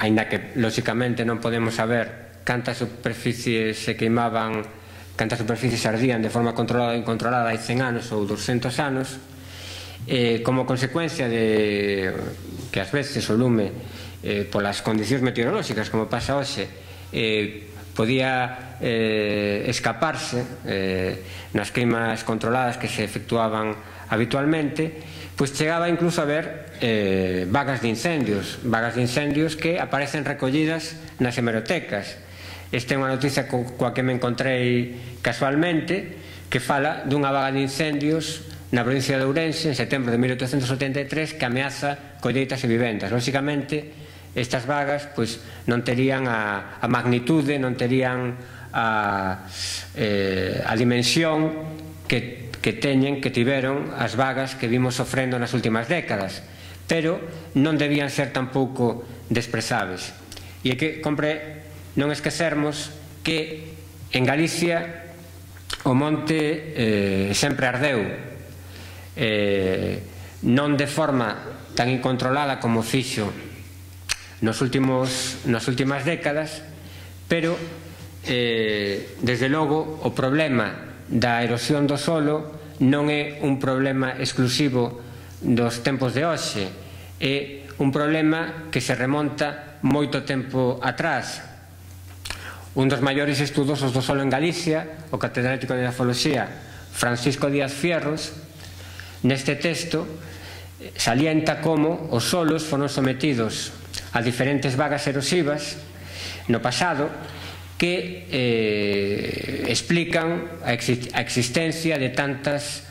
aínda que lóxicamente non podemos saber cantas superficies se queimaban, cantas superficies ardían de forma controlada ou incontrolada hai 100 anos ou 200 anos, como consecuencia de que ás veces o lume polas condicións meteorolóxicas, como pasa hoxe, podía escaparse nas queimas controladas que se efectuaban habitualmente, pois chegaba incluso a haber vagas de incendios que aparecen recollidas nas hemerotecas. Esta é unha noticia coa que me encontrei casualmente, que fala dunha vaga de incendios na provincia de Ourense en setembro de 1873 que ameaza colleitas e vivendas. Lóxicamente, estas vagas non terían a magnitude, non terían a dimensión que tiveron as vagas que vimos sofrendo nas últimas décadas, pero non debían ser tampouco desprezables. E é que compre non esquecermos que en Galicia o monte sempre ardeu, non de forma tan incontrolada como fixo nas últimas décadas, pero desde logo o problema da erosión do solo non é un problema exclusivo dos tempos de hoxe, é un problema que se remonta moito tempo atrás. Un dos maiores estudosos do solo en Galicia, o catedrático de Edafoloxía Francisco Díaz Fierros, neste texto salienta como os solos foron sometidos a diferentes vagas erosivas no pasado que explican a existencia de tantos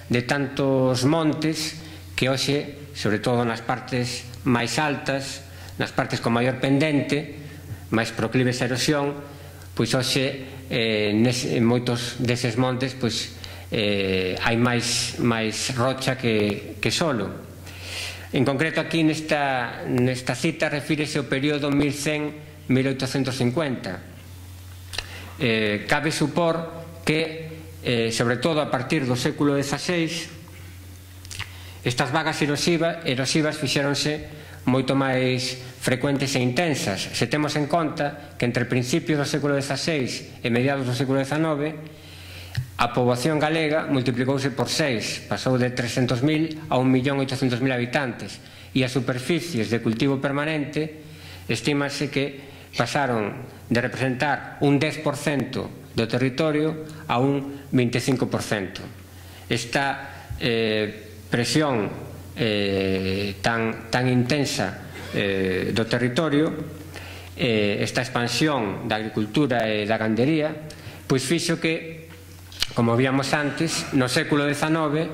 montes que hoxe, sobre todo nas partes máis altas, nas partes con maior pendente, máis proclives a erosión, pois hoxe en moitos deses montes hai máis rocha que solo. En concreto aquí nesta cita refírese ao período 1100-1850. Cabe supor que, sobre todo a partir do século XVI, Estas vagas erosivas fixéronse moito máis frecuentes e intensas. Se temos en conta que entre principios do século XVI e mediados do século XIX a poboación galega multiplicouse por 6, pasou de 300.000 a 1.800.000 habitantes, e as superficies de cultivo permanente estímase que pasaron de representar un 10% do territorio a un 25%. Esta presión tan intensa do territorio, esta expansión da agricultura e da gandería, pois fixo que, como víamos antes, no século XIX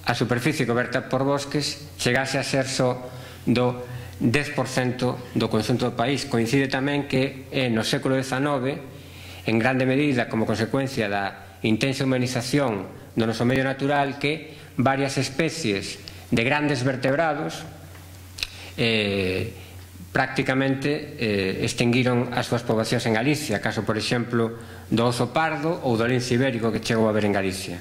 a superficie coberta por bosques chegase a ser só do 10% do conxunto do país. Coincide tamén que no século XIX, en grande medida como consecuencia da intensa humanización do noso medio natural, que varias especies de grandes vertebrados prácticamente extinguiron as súas poboacións en Galicia, caso, por exemplo, do oso pardo ou do lince ibérico que chegou a ver en Galicia.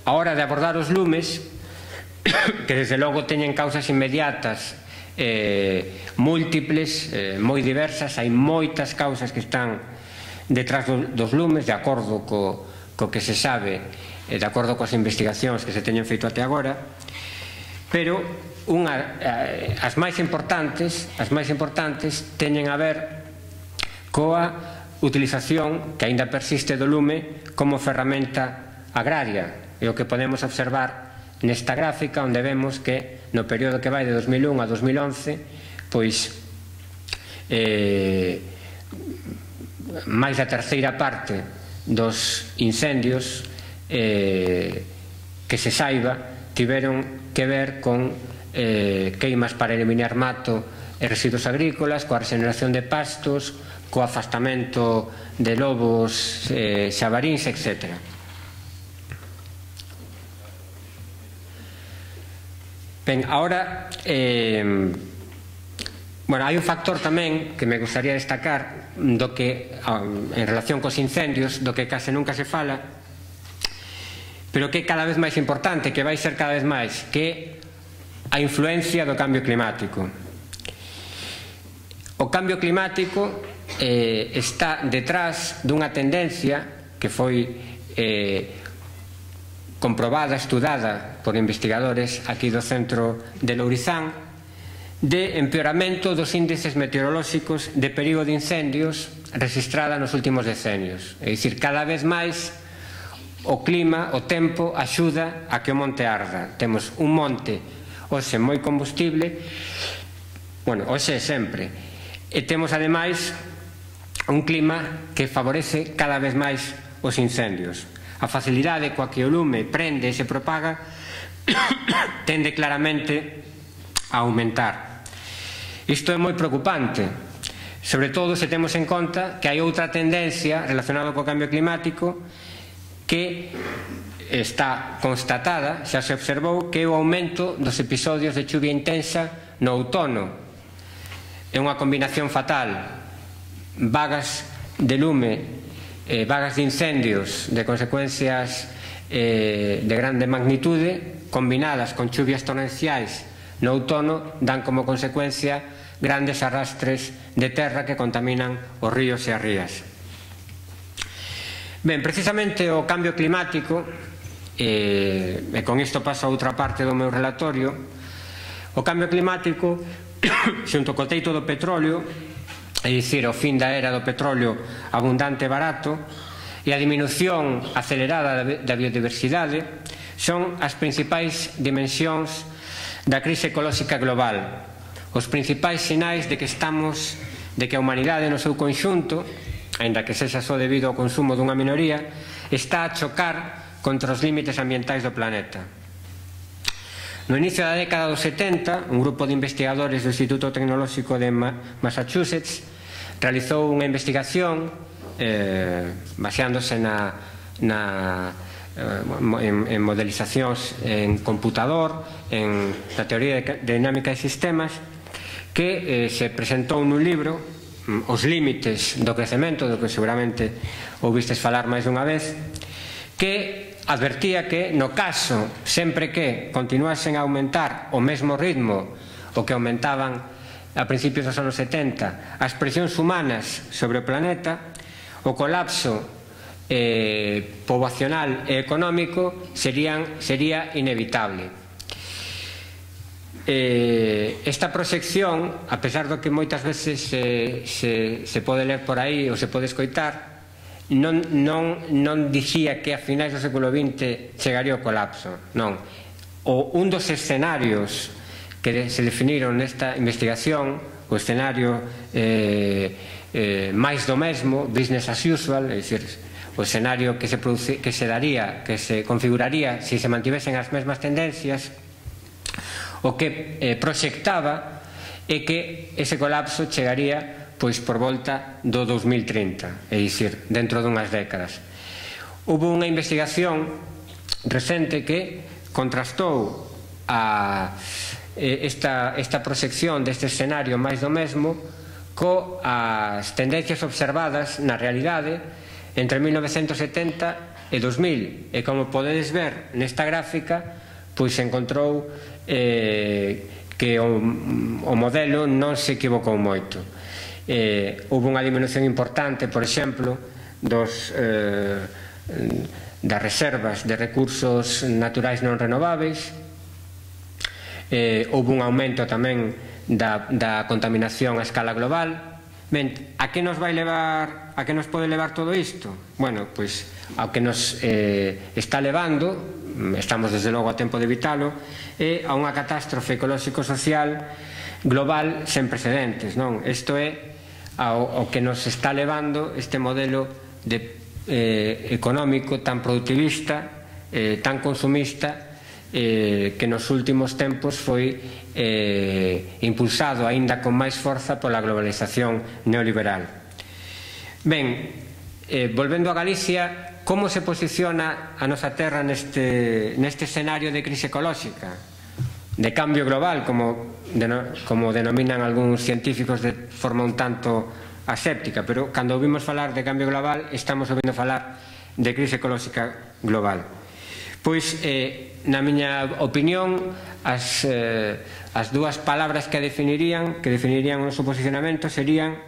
A hora de abordar os lumes, que desde logo teñen causas inmediatas múltiples, moi diversas, hai moitas causas que están detrás dos lumes, de acordo co que se sabe, de acordo coas investigacións que se teñen feito até agora, pero as máis importantes teñen a ver coa utilización que aínda persiste do lume como ferramenta agraria. É o que podemos observar nesta gráfica, onde vemos que no período que vai de 2001 a 2011, pois máis da terceira parte dos incendios que se saiba tiveron que ver con queimas para eliminar mato e residuos agrícolas, coa regeneración de pastos, co afastamento de lobos, xabaríns, etc. Ben, ahora hai un factor tamén que me gustaría destacar do que, en relación cos incendios, do que case nunca se fala, pero que é cada vez máis importante, que vai ser cada vez máis, que a influencia do cambio climático. O cambio climático está detrás dunha tendencia que foi comprobada, estudada por investigadores aquí do centro de Lourizán, de empeoramento dos índices meteorolóxicos de perigo de incendios registrada nos últimos decenios. É dicir, cada vez máis o clima, o tempo, axuda a que o monte arda. Temos un monte hoxe moi combustible, hoxe sempre, e temos ademais un clima que favorece cada vez máis os incendios. A facilidade coa que o lume prende e se propaga tende claramente a aumentar. Isto é moi preocupante, sobre todo se temos en conta que hai outra tendencia relacionada co cambio climático que está constatada, xa se observou, que é o aumento dos episodios de chuvia intensa no outono. É unha combinación fatal, vagas de lume, vagas de incendios de consecuencias de grande magnitude, combinadas con chuvias torrenciais no outono, dan como consecuencia grandes arrastres de terra que contaminan os ríos e as rías. Ben, precisamente o cambio climático, e con isto paso a outra parte do meu relatorio, o cambio climático, xunto co teito do petróleo, é dicir, o fin da era do petróleo abundante e barato, e a diminución acelerada da biodiversidade, son as principais dimensións da crise ecolóxica global, os principais sinais de que a humanidade no seu conxunto, aínda que sexa só debido ao consumo dunha minoría, está a chocar contra os límites ambientais do planeta. No inicio da década dos 70, un grupo de investigadores do Instituto Tecnolóxico de Massachusetts realizou unha investigación baseándose en modelizacións en computador, na teoría de dinámica de sistemas, que se presentou nun libro, Os límites do crecemento, do que seguramente ouvistes falar máis dunha vez, que advertía que no caso, sempre que continuasen a aumentar o mesmo ritmo o que aumentaban a principios dos anos 70 as presións humanas sobre o planeta, o colapso poboacional e económico sería inevitable. Esta proxección, a pesar do que moitas veces se pode ler por aí ou se pode escoitar, non dicía que a finais do século XX chegaría o colapso, non. Un dos escenarios que se definiron nesta investigación, o escenario máis do mesmo, business as usual, é dicir, o escenario que se daría, que se configuraría se se mantivesen as mesmas tendencias, o que proxectaba é que ese colapso chegaría pois por volta do 2030, é dicir, dentro dunhas décadas. Houve unha investigación recente que contrastou esta proxección deste escenario máis do mesmo coas tendencias observadas na realidade entre 1970 e 2000, e como podedes ver nesta gráfica, pois se encontrou que o modelo non se equivocou moito. Houve unha diminución importante, por exemplo, das reservas de recursos naturais non renováveis. Houve un aumento tamén da contaminación a escala global. Ben, a que nos vai levar, a que nos pode levar todo isto? Bueno, pois ao que nos está levando, estamos desde logo a tempo de evitalo, é a unha catástrofe ecolóxico-social global sen precedentes, non? Isto é ao que nos está levando este modelo económico tan productivista, tan consumista, que nos últimos tempos foi impulsado aínda con máis forza pola globalización neoliberal. Ben, volvendo a Galicia, como se posiciona a nosa terra neste escenario de crise ecolóxica, de cambio global, como denominan algúns científicos de forma un tanto aséptica, pero cando ouvimos falar de cambio global estamos ouvindo falar de crise ecolóxica global. Pois, na miña opinión, as dúas palabras que definirían o noso posicionamento serían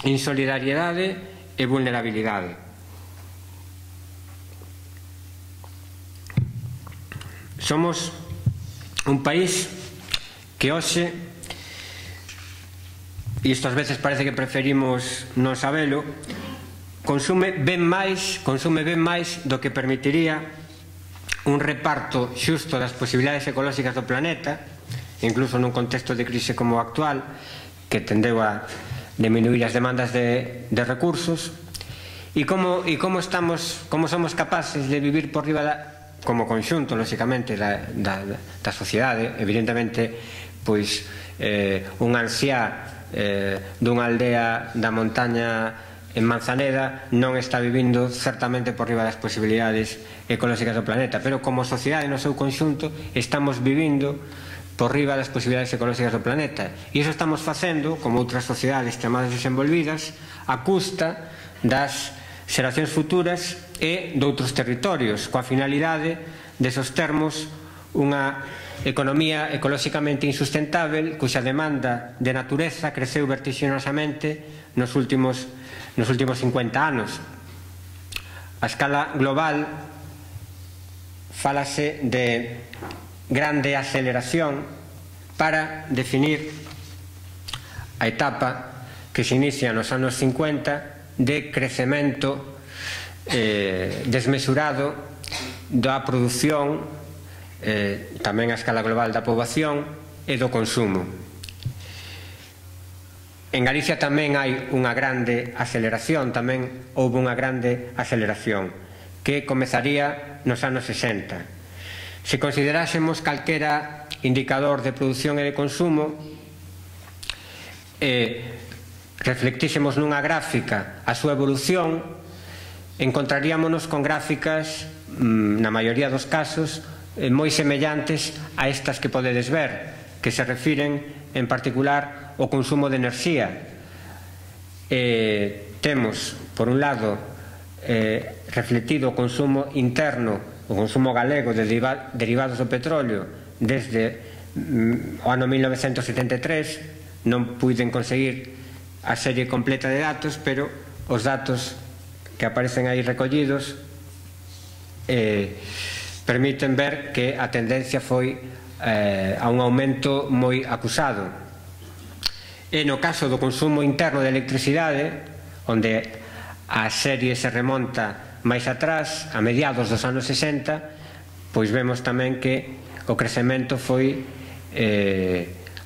insolidariedade e vulnerabilidade. Somos un país que hoxe, e isto ás veces parece que preferimos non sabelo, consume ben máis do que permitiría un reparto xusto das posibilidades ecolóxicas do planeta, incluso nun contexto de crise como o actual, que tendeu a diminuir as demandas de recursos, e como somos capaces de vivir por riba como conxunto, lóxicamente, da sociedade. Evidentemente, pois un anciá dunha aldea da montaña en Manzaneda non está vivindo certamente por riba das posibilidades ecolóxicas do planeta, pero como sociedade no seu conxunto estamos vivindo por riba das posibilidades ecolóxicas do planeta, e iso estamos facendo, como outras sociedades chamadas desenvolvidas, a custa das xeracións futuras e doutros territorios, coa finalidade de sostermos unha economía ecolóxicamente insustentável cuxa demanda de natureza creceu vertixinosamente nos últimos 50 anos. A escala global fálase de grande aceleración para definir a etapa que se inicia nos anos 50 de crecemento desmesurado da produción, tamén a escala global da poboación e do consumo. En Galicia tamén hai unha grande aceleración, tamén houve unha grande aceleración que comezaría nos anos 60. Se considerásemos calquera indicador de produción e de consumo e reflectísemos nunha gráfica a súa evolución, encontraríamonos con gráficas, na maioría dos casos, moi semellantes a estas que podedes ver, que se refiren en particular ao consumo de enerxía. Temos, por un lado, reflectido o consumo interno, o o consumo galego de derivados do petróleo desde o ano 1973. Non puiden conseguir a serie completa de datos, pero os datos que aparecen aí recollidos permiten ver que a tendencia foi a un aumento moi acusado. E no caso do consumo interno de electricidade, onde a serie se remonta máis atrás, a mediados dos anos 60, pois vemos tamén que o crecemento foi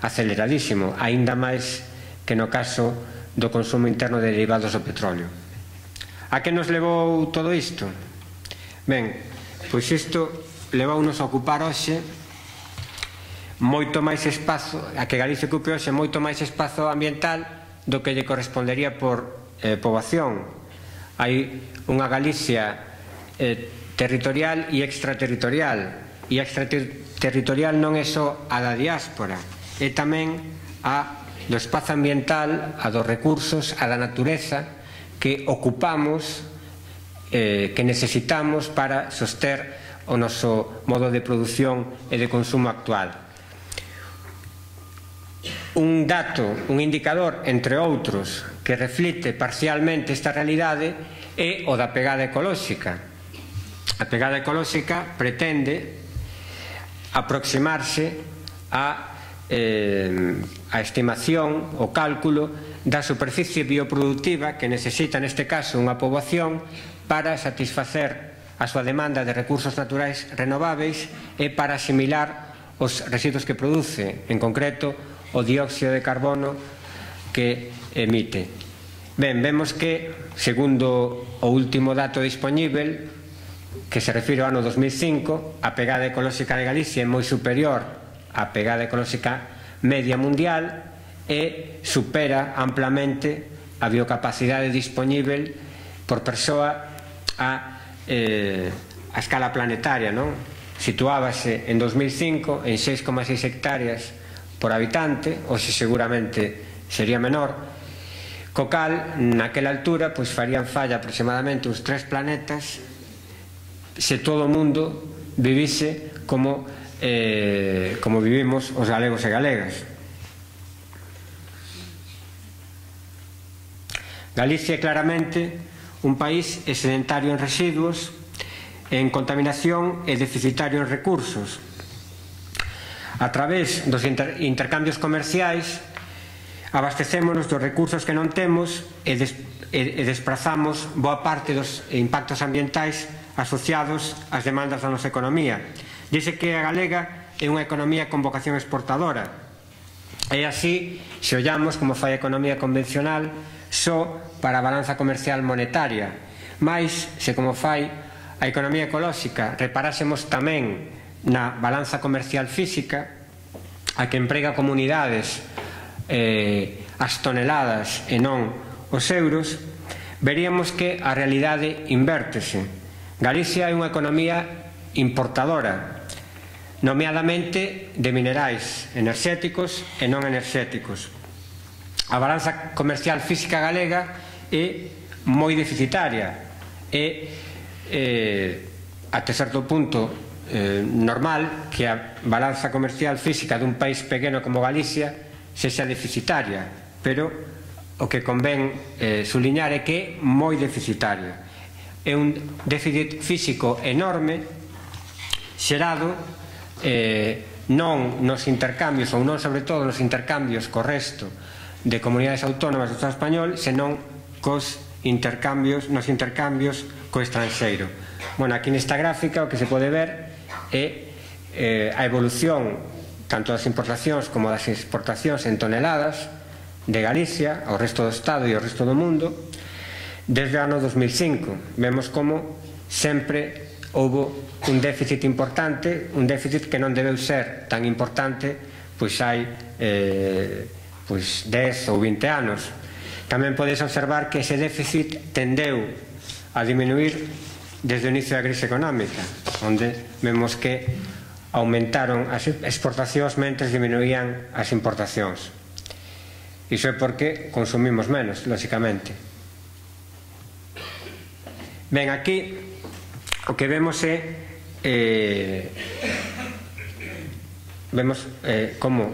aceleradísimo, aínda máis que no caso do consumo interno de derivados do petróleo. A que nos levou todo isto? Ben, pois isto levounos a ocupar hoxe moito máis espazo, a que Galicia ocupe hoxe moito máis espazo ambiental do que lle correspondería por poboación. Hai unha Galicia territorial e extraterritorial, e extraterritorial non é só a da diáspora, é tamén a do espazo ambiental, a dos recursos, a da natureza que ocupamos, que necesitamos para soster o noso modo de produción e de consumo actual. Un dato, un indicador, entre outros, que reflite parcialmente esta realidade é o da pegada ecolóxica. A pegada ecolóxica pretende aproximarse a estimación, o cálculo da superficie bioproductiva que necesita neste caso unha poboación para satisfacer a súa demanda de recursos naturais renováveis e para asimilar os residuos que produce, en concreto o dióxido de carbono que emite. Ben, vemos que, segundo o último dato dispoñível, que se refire ao ano 2005, a pegada ecolóxica de Galicia é moi superior á pegada ecolóxica media mundial e supera amplamente a biocapacidade dispoñível por persoa a escala planetaria, non? Situábase en 2005 en 6,6 hectáreas por habitante, hoxe seguramente sería menor, co cal, naquela altura, pois farían falla aproximadamente uns 3 planetas se todo o mundo vivise como vivimos os galegos e galegas. Galicia é claramente un país excedentario en residuos, en contaminación e deficitario en recursos. A través dos intercambios comerciais abastecémonos dos recursos que non temos e desprazamos boa parte dos impactos ambientais asociados ás demandas da nosa economía. Dice que a galega é unha economía con vocación exportadora. E así, se ollamos como fai a economía convencional só para a balanza comercial monetaria, mais se como fai a economía ecolóxica reparásemos tamén na balanza comercial física, a que emprega comunidades as toneladas e non os euros, veríamos que a realidade invértese. Galicia é unha economía importadora, nomeadamente de minerais enerxéticos e non enerxéticos. A balanza comercial física galega é moi deficitaria e até certo punto normal que a balanza comercial física dun país pequeno como Galicia sexa deficitaria, pero o que convén suliñar é que é moi deficitaria. É un déficit físico enorme xerado non nos intercambios, ou non sobre todo nos intercambios co resto de comunidades autónomas do Estado español, senón nos intercambios co estranxeiro. Bueno, aquí nesta gráfica o que se pode ver é a evolución tanto das importacións como das exportacións en toneladas de Galicia ao resto do Estado e ao resto do mundo desde o ano 2005. Vemos como sempre houbo un déficit importante, un déficit que non debeu ser tan importante pois hai 10 ou 20 anos. Tamén podes observar que ese déficit tendeu a diminuir desde o inicio da crise económica, onde vemos que aumentaron as exportacións mentres diminuían as importacións. Iso é porque consumimos menos, lóxicamente. Ben, aquí o que vemos é vemos como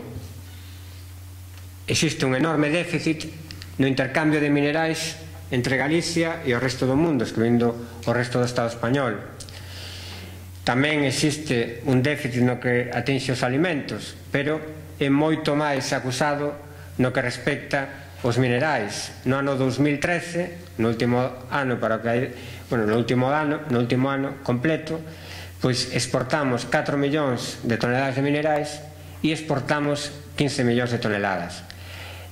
existe un enorme déficit no intercambio de minerais entre Galicia e o resto do mundo, excluindo o resto do Estado español. Tamén existe un déficit no que atinxe os alimentos, pero é moito máis acusado no que respecta os minerais. No ano 2013, no último ano completo, pois exportamos 4 millóns de toneladas de minerais e exportamos 15 millóns de toneladas.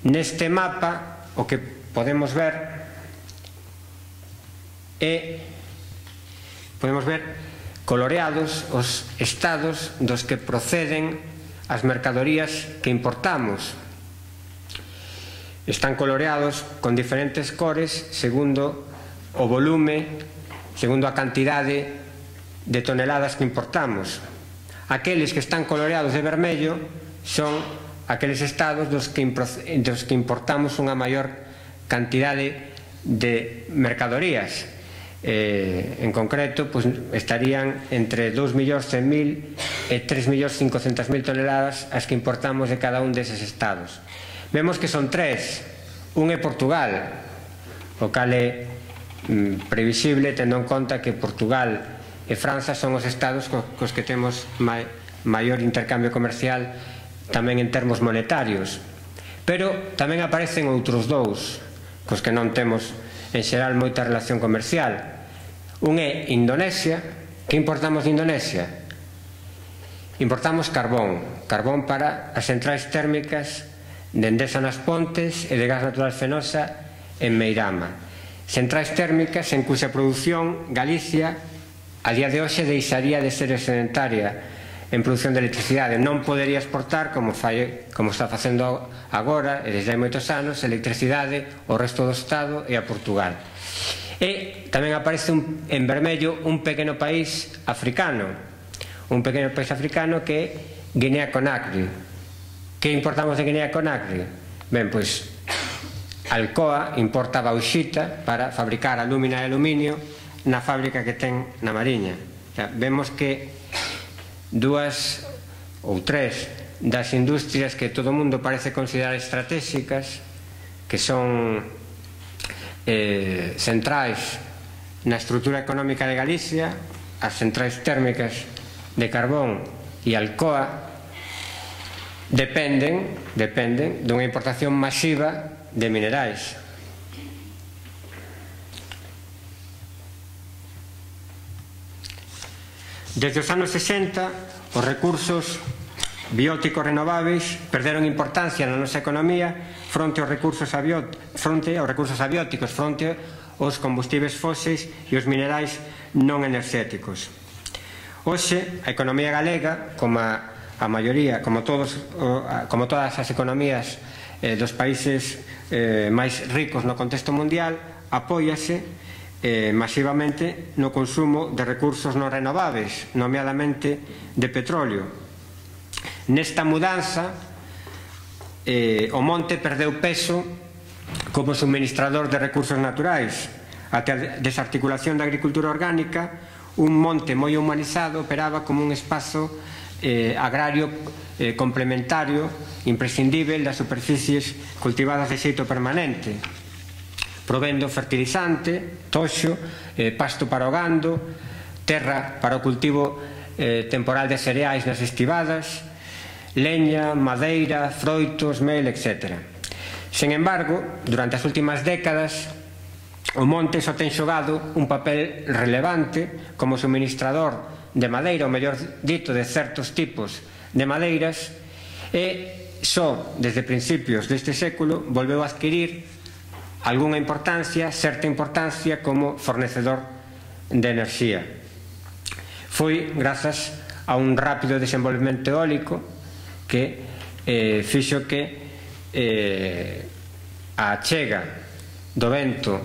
Neste mapa, o que podemos ver coloreados os estados dos que proceden as mercadorías que importamos. Están coloreados con diferentes cores segundo o volume, segundo a cantidade de toneladas que importamos. Aqueles que están coloreados de vermello son aqueles estados dos que importamos unha maior cantidade de mercadorías. En concreto, estarían entre 2.100.000 e 3.500.000 toneladas as que importamos de cada un deses estados. Vemos que son tres. Un é Portugal, o cal é previsible tendo en conta que Portugal e França son os estados cos que temos maior intercambio comercial tamén en termos monetarios. Pero tamén aparecen outros dous cos que non temos en xeral moita relación comercial. Un é Indonesia. Que importamos de Indonesia? Importamos carbón para as centrais térmicas de Endesa nas Pontes e de gas natural Fenosa en Meirama. Centrais térmicas en cuxa produción Galicia a día de hoxe deixaría de ser excedentaria en produción de electricidade. Non podería exportar, como está facendo agora e desde hai moitos anos, electricidade ao resto do Estado e a Portugal. E tamén aparece en vermello un pequeno país africano, que é Guinea-Conakry. Que importamos de Guinea-Conakry? Ben, pois Alcoa importa bauxita para fabricar alúmina e aluminio na fábrica que ten na Mariña. Vemos que dúas ou tres das industrias que todo o mundo parece considerar estratégicas, que son centrais na estrutura económica de Galicia, as centrais térmicas de carbón e Alcoa, dependen dunha importación masiva de minerais. Desde os anos 60, os recursos bióticos renováveis perderon importancia na nosa economía fronte aos recursos abióticos, fronte aos combustibles fósiles e os minerais non enerxéticos. Hoxe, a economía galega, como todas as economías dos países máis ricos no contexto mundial, apóiase masivamente no consumo de recursos non renováveis, nomeadamente de petróleo. Nesta mudanza, o monte perdeu peso como suministrador de recursos naturais. Até a desarticulación da agricultura orgánica, un monte moi humanizado operaba como un espazo agrario complementario imprescindível das superficies cultivadas de xeito permanente, provendo fertilizante, toxo, pasto para o gando, terra para o cultivo temporal de cereais nas estivadas, leña, madeira, froitos, mel, etc. Sen embargo, durante as últimas décadas, o monte só ten xogado un papel relevante como suministrador de madeira, ou mellor dito, de certos tipos de madeiras, e só desde principios deste século volveu a adquirir algunha importancia, certa importancia como fornecedor de enerxía. Foi grazas a un rápido desenvolvemento eólico que fixo que a achega do vento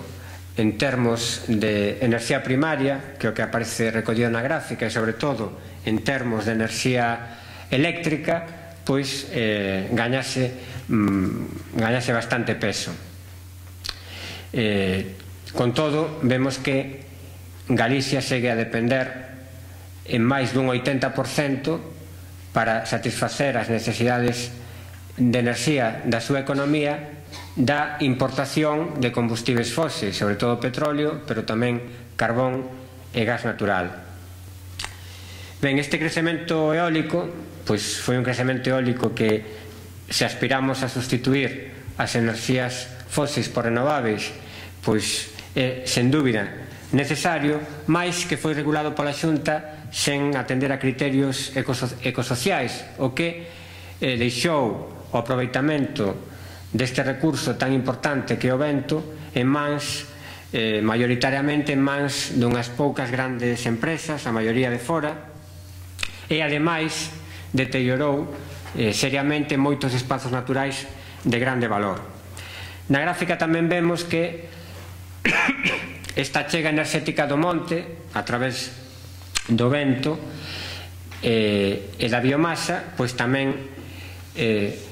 en termos de enerxía primaria, que é o que aparece recollido na gráfica, e sobre todo en termos de enerxía eléctrica, pois gañase bastante peso. Con todo, vemos que Galicia segue a depender en máis dun 80% para satisfacer as necesidades de enerxía da súa economía da importación de combustibles fósiles, sobre todo petróleo, pero tamén carbón e gas natural. Ben, este crecemento eólico pois foi un crecemento eólico que, se aspiramos a sustituir as enerxías fósiles por renováveis, pois é, sen dúbida, necesario, máis que foi regulado pola Xunta sen atender a criterios ecosociais, o que deixou o aproveitamento deste recurso tan importante que é o vento en mans, maioritariamente en mans dunhas poucas grandes empresas, a maioría de fora, e ademais deteriorou seriamente moitos espazos naturais de grande valor. Na gráfica tamén vemos que esta achega enerxética do monte, a través do vento e da biomasa, pois tamén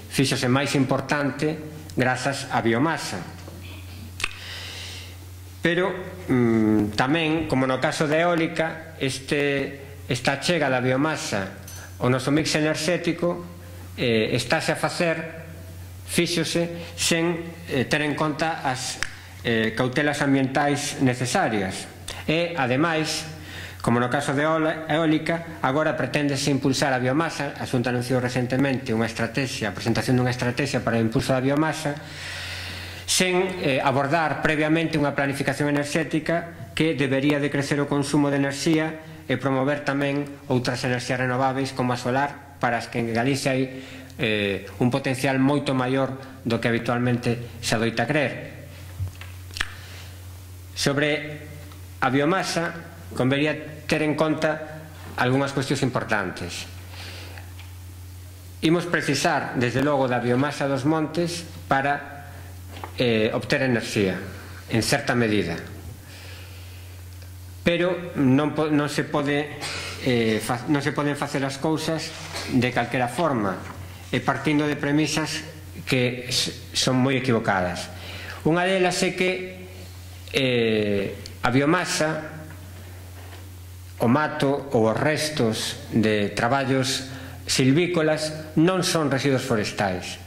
fíxose máis importante grazas á biomasa. Pero tamén, como no caso da eólica, esta achega da biomasa ao noso mix enerxético estáse a facer, fíxose, sen ter en conta as cautelas ambientais necesarias. E, ademais, como no caso de eólica, agora preténdese impulsar a biomasa. A Xunta anunciou recentemente a presentación dunha estrategia para o impulso da biomasa, sen abordar previamente unha planificación enerxética que debería de crecer o consumo de enerxía e promover tamén outras enerxías renováveis como a solar, para as que en Galicia hai un potencial moito maior do que habitualmente se adoita crer. Sobre a biomasa, convería ter en conta algunhas cuestións importantes. Imos precisar, desde logo, da biomasa dos montes para obter enerxía, en certa medida. Pero non se poden facer as cousas de calquera forma, e partindo de premisas que son moi equivocadas. Unha delas é que a biomasa, o mato ou os restos de traballos silvícolas non son residuos forestais.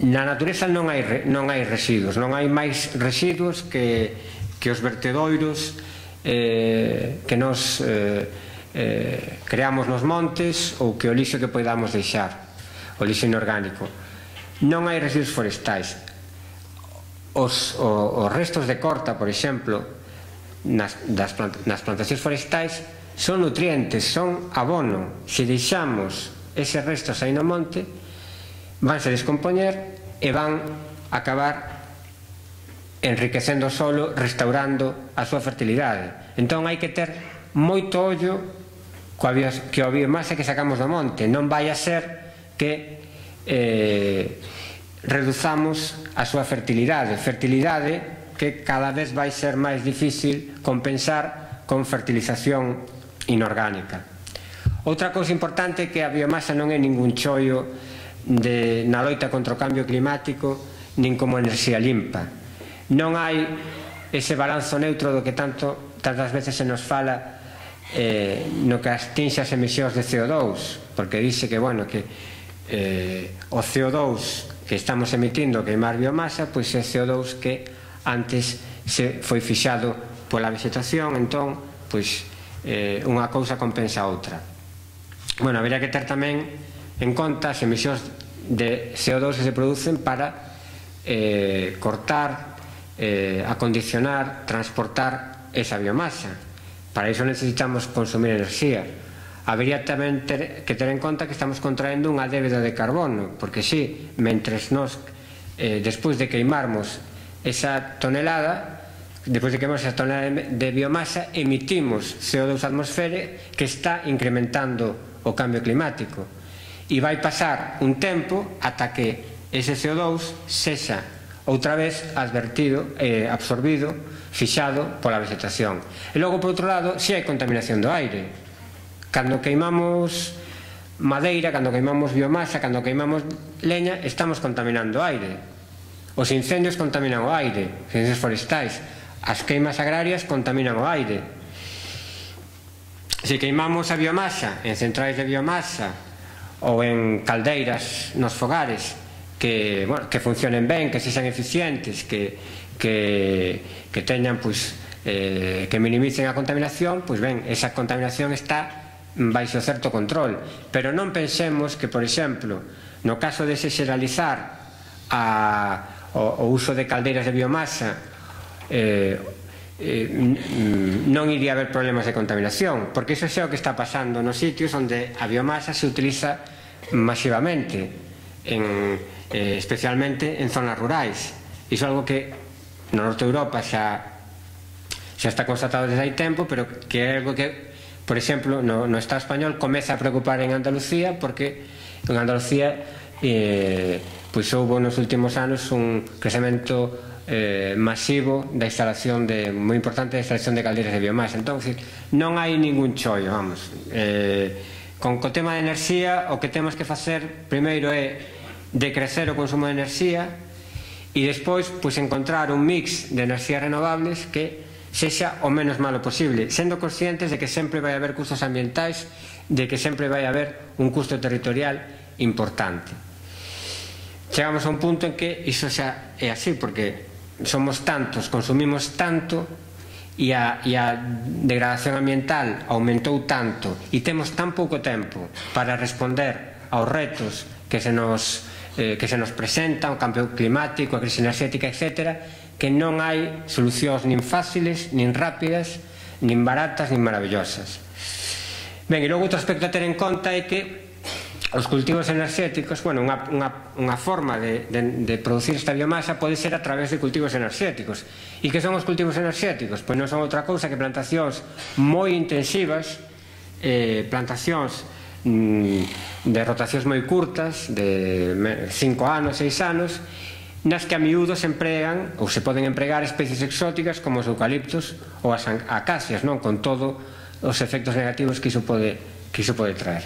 Na natureza non hai residuos, non hai máis residuos que os vertedoiros que nos creamos nos montes, ou que o lixo que podamos deixar, o lixo inorgánico. Non hai residuos forestais. Os restos de corta, por exemplo, nas plantacións forestais, son nutrientes, son abono. Se deixamos eses restos aí no monte, vanse descompoñer e van acabar enriquecendo o solo, restaurando a súa fertilidade. Entón hai que ter moito ollo coa biomasa que sacamos do monte. Non vai a ser que reduzamos a súa fertilidade que cada vez vai ser máis difícil compensar con fertilización inorgánica. Outra cousa importante é que a biomasa non é ningún chollo na loita contra o cambio climático, nin como enerxía limpa. Non hai ese balanzo neutro do que tantas veces se nos fala no que atinxe as emisións de CO2, porque dice que, bueno, que o CO2 que estamos emitindo queimar biomasa, pois é CO2 que antes se foi fixado pola vegetación, entón, pois, unha cousa compensa a outra. Bueno, habería que ter tamén en conta as emisións de CO2 que se producen para cortar, acondicionar, transportar esa biomasa. Para iso necesitamos consumir enerxía. Habería tamén que ter en conta que estamos contraendo unha débeda de carbono, porque si, mentres nos, despois de queimarmos esa tonelada, de biomasa, emitimos CO2 á atmosfera, que está incrementando o cambio climático. E vai pasar un tempo ata que ese CO2 sexa outra vez absorbido, fixado pola vegetación. E logo, por outro lado, si hai contaminación do aire. Cando queimamos madeira, cando queimamos biomasa, cando queimamos leña, estamos contaminando o aire. Os incendios contaminan o aire, os incendios forestais. As queimas agrarias contaminan o aire. se queimamos a biomasa en centrais de biomasa ou en caldeiras nos fogares que funcionen ben, que sexan eficientes, que teñan, que minimicen a contaminación, pois ben, esa contaminación está baixo certo control. Pero non pensemos que, por exemplo, no caso de se xeralizar o uso de caldeiras de biomasa, non iría haber problemas de contaminación, porque iso é o que está pasando nos sitios onde a biomasa se utiliza masivamente, especialmente en zonas rurais. Iso é algo que no norte de Europa xa está constatado desde hai tempo, pero que é algo que, por exemplo, no Estado español comeza a preocupar en Andalucía, porque en Andalucía houve nos últimos anos un crecemento masivo da instalación moi importante da instalación de caldeiras de biomasa. Entón, non hai ningún chollo, vamos. Con o tema de enerxía, o que temos que facer primeiro é decrecer o consumo de enerxía e despois encontrar un mix de enerxías renovables que sexa o menos malo posible, sendo conscientes de que sempre vai haber custos ambientais, de que sempre vai haber un custo territorial importante. Chegamos a un punto en que iso xa é así, porque somos tantos, consumimos tanto e a degradación ambiental aumentou tanto e temos tan pouco tempo para responder aos retos que se nos presenta, o cambio climático, a crise enerxética, etc., que non hai solucións nin fáciles, nin rápidas, nin baratas, nin maravillosas. Ben, e logo outro aspecto a ter en conta é que os cultivos enerxéticos, unha forma de producir esta biomasa pode ser a través de cultivos enerxéticos. E que son os cultivos enerxéticos? Pois non son outra cousa que plantacións moi intensivas, plantacións de rotacións moi curtas, de 5 anos, 6 anos, nas que a miúdo se empregan ou se poden empregar especies exóticas como os eucaliptos ou as acacias, con todos os efectos negativos que iso pode traer.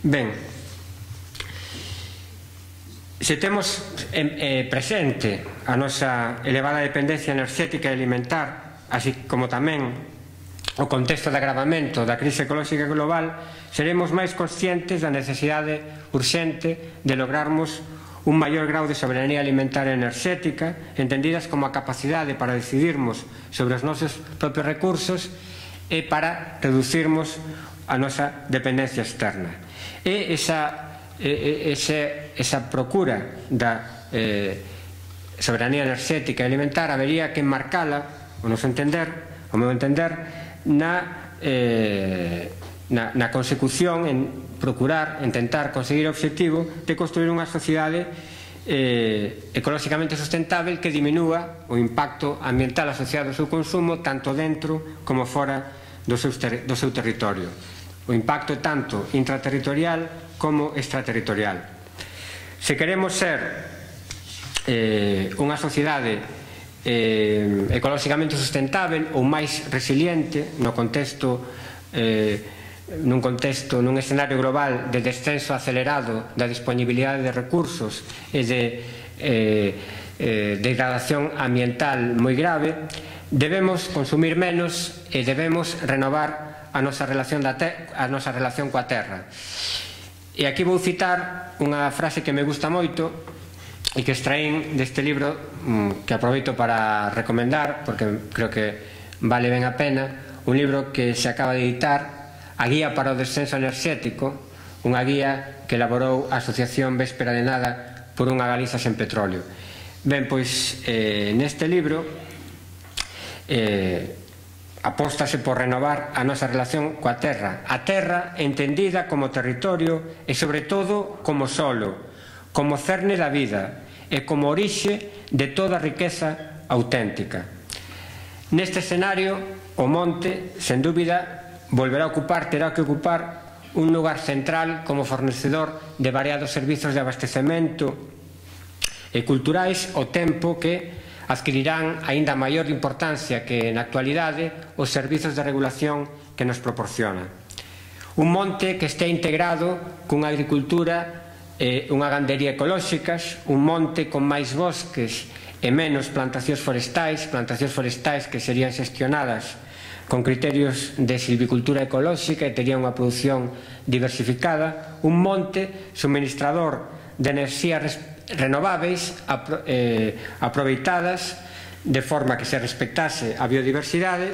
Ben, se temos presente a nosa elevada dependencia enerxética e alimentar, así como tamén o contexto de agravamento da crise ecolóxica global, seremos máis conscientes da necesidade urxente de lograrmos un maior grau de soberanía alimentar e enerxética, entendidas como a capacidade para decidirmos sobre os nosos propios recursos e para reducirmos a nosa dependencia externa. E esa procura da soberanía enerxética e alimentar habería que enmarcala, ao meu entender, na consecución, en procurar, intentar conseguir o obxectivo de construir unha sociedade ecolóxicamente sustentável que diminúa o impacto ambiental asociado ao seu consumo tanto dentro como fora do seu territorio. O impacto tanto intraterritorial como extraterritorial. Se queremos ser unha sociedade ecolóxicamente sustentável ou máis resiliente nun escenario global de descenso acelerado da disponibilidade de recursos e de degradación ambiental moi grave, debemos consumir menos e debemos renovar a nosa relación coa terra. E aquí vou citar unha frase que me gusta moito e que extraín deste libro que aproveito para recomendar porque creo que vale ben a pena, un libro que se acaba de editar, A Guía para o Descenso Enerxético, unha guía que elaborou a Asociación Véspera de Nada por unha Galiza sen petróleo. Ben, pois neste libro apóstase por renovar a nosa relación coa terra. A terra entendida como territorio e, sobre todo, como solo, como cerne da vida e como orixe de toda a riqueza auténtica. Neste escenario, o monte, sen dúbida, terá que ocupar un lugar central como fornecedor de variados servizos de abastecemento e culturais ao tempo que adquirirán aínda maior importancia que na actualidade os servizos de regulación que nos proporciona. Un monte que este integrado cunha agricultura e unha gandería ecolóxicas, un monte con máis bosques e menos plantacións forestais que serían xestionadas con criterios de silvicultura ecolóxica e tería unha produción diversificada, un monte suministrador de enerxías renováveis aproveitadas de forma que se respectase a biodiversidade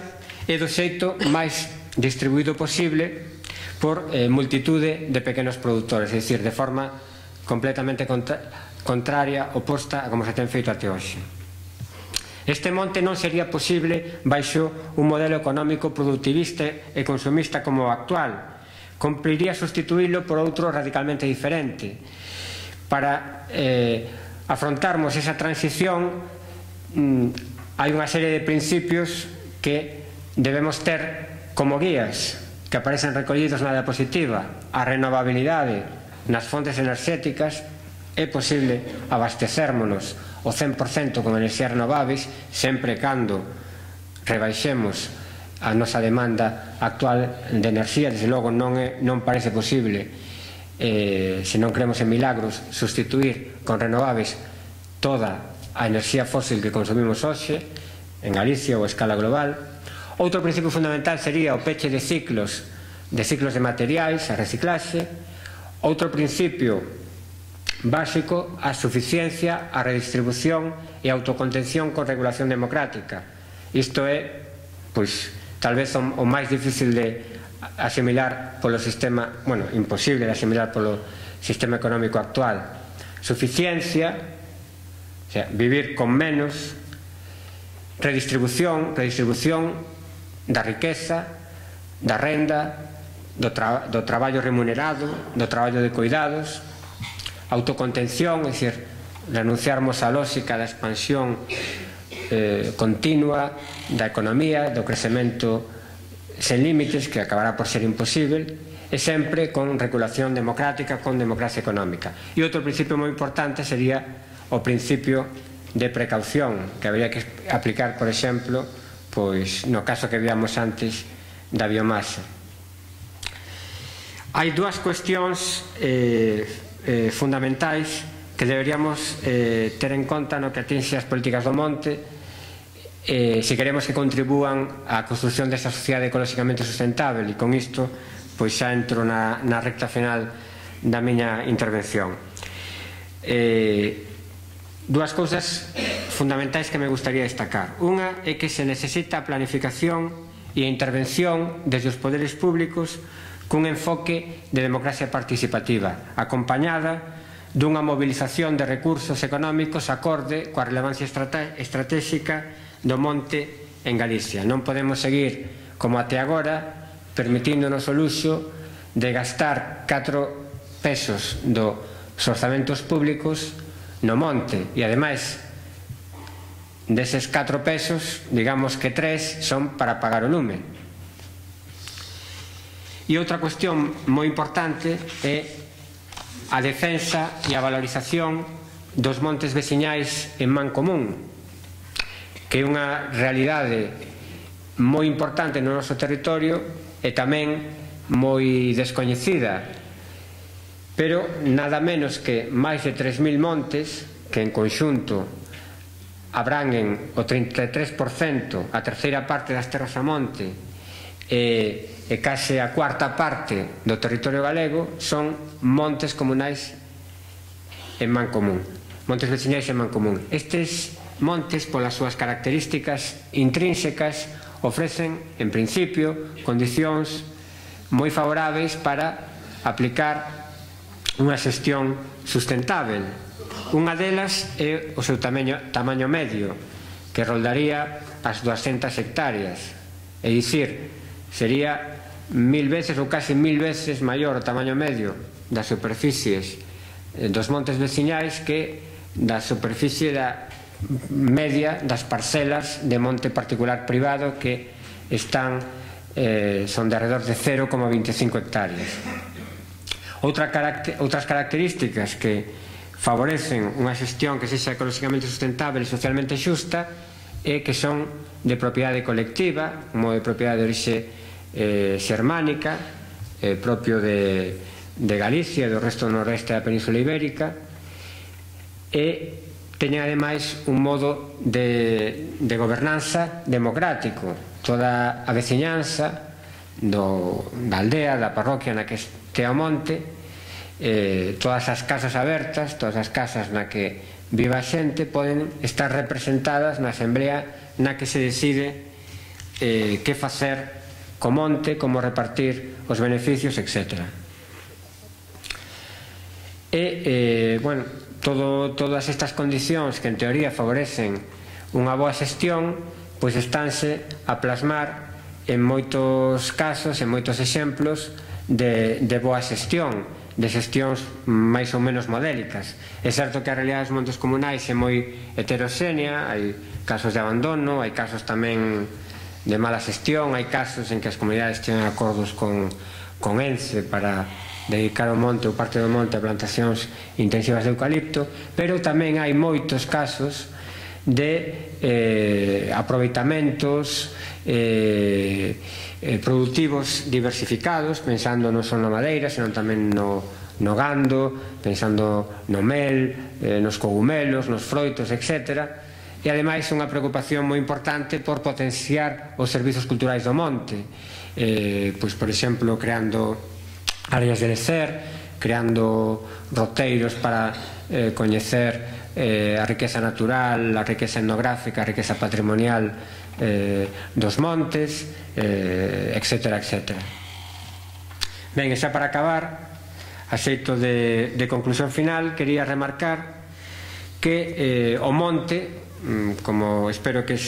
e do xeito máis distribuído posible por multitude de pequenos produtores, é dicir, de forma completamente contraria, oposta a como se ten feito até hoxe. Este monte non sería posible baixo un modelo económico productivista e consumista como o actual. Cumpriría sustituílo por outro radicalmente diferente. Para afrontarmos esa transición hai unha serie de principios que debemos ter como guías que aparecen recollidos na diapositiva. A renovabilidade nas fontes enerxéticas. É posible abastecérmonos o 100% con enerxías renováveis sempre cando rebaixemos a nosa demanda actual de enerxía. Desde logo non parece posible, se non creemos en milagros, sustituir con renováveis toda a enerxía fósil que consumimos hoxe en Galicia ou a escala global. Outro principio fundamental sería o peche de ciclos de materiais, a reciclaxe. Outro principio básico, a suficiencia, a redistribución e a autocontención con regulación democrática. Isto é, pois, tal vez o máis difícil de asimilar polo sistema, bueno, imposible de asimilar polo sistema económico actual. Suficiencia, o sea, vivir con menos. Redistribución da riqueza, da renda, do traballo remunerado, do traballo de cuidados. Autocontención, é dicir, renunciarmos á lógica da expansión continua da economía, do crecemento sen límites, que acabará por ser imposible, e sempre con regulación democrática, con democracia económica. E outro principio moi importante sería o principio de precaución, que habría que aplicar, por exemplo, pois no caso que víamos antes da biomasa. Hai dúas cuestións fundamentais que deberíamos ter en conta no que atinxe as políticas do monte se queremos que contribúan á construción desta sociedade ecolóxicamente sustentable, e con isto pois xa entro na recta final da miña intervención. Dúas cousas fundamentais que me gustaría destacar. Unha é que se necesita a planificación e a intervención desde os poderes públicos cun enfoque de democracia participativa, acompañada dunha movilización de recursos económicos acorde coa relevancia estratégica do monte en Galicia. Non podemos seguir, como até agora, permitíndonos o luxo de gastar 4 pesos dos orzamentos públicos no monte, e ademais deses 4 pesos, digamos que 3 son para pagar o lume. E outra cuestión moi importante é a defensa e a valorización dos montes veciñais en man común, que é unha realidade moi importante no noso territorio e tamén moi descoñecida, pero nada menos que máis de 3.000 montes que en conxunto abranguen o 33%, a terceira parte das terras a monte e case a cuarta parte do territorio galego, son montes comunais en man común, montes veciñais en man común. Estes montes, polas súas características intrínsecas, ofrecen, en principio, condicións moi favoráveis para aplicar unha xestión sustentável. Unha delas é o seu tamaño medio, que roldaría as 200 hectáreas, é dicir, sería 1000 veces ou case 1000 veces maior o tamaño medio das superficies dos montes veciñais que da superficie media das parcelas de monte particular privado, que son de alrededor de 0,25 hectáreas. Outras características que favorecen unha xestión que sexa ecolóxicamente sustentable e socialmente xusta é que son de propiedade colectiva, como de propiedade de orixe xermánica, propio de Galicia e do resto do noroeste da Península Ibérica, e teñen ademais un modo de gobernanza democrático, toda a veciñanza da aldea, da parroquia na que este o monte, todas as casas abertas, todas as casas na que viva a xente poden estar representadas na asamblea na que se decide que facer co monte, como repartir os beneficios, etc. Bueno, todas estas condicións que en teoría favorecen unha boa xestión, pois estánse a plasmar en moitos casos, en moitos exemplos de boa xestión, de xestións máis ou menos modélicas. É certo que a realidade dos montes comunais é moi heteroxénea, hai casos de abandono, hai casos tamén de mala xestión, hai casos en que as comunidades teñen acordos con ENCE para dedicar o monte ou parte do monte a plantacións intensivas de eucalipto, pero tamén hai moitos casos de aproveitamentos productivos diversificados, pensando non só na madeira, senón tamén no gando, pensando no mel, nos cogumelos, nos froitos, etc. E ademais unha preocupación moi importante por potenciar os servizos culturais do monte, pois, por exemplo, creando áreas de lecer, creando roteiros para coñecer a riqueza natural, a riqueza etnográfica, a riqueza patrimonial dos montes, etc. Ben, e xa para acabar, a xeito de conclusión final, quería remarcar que o monte, como espero que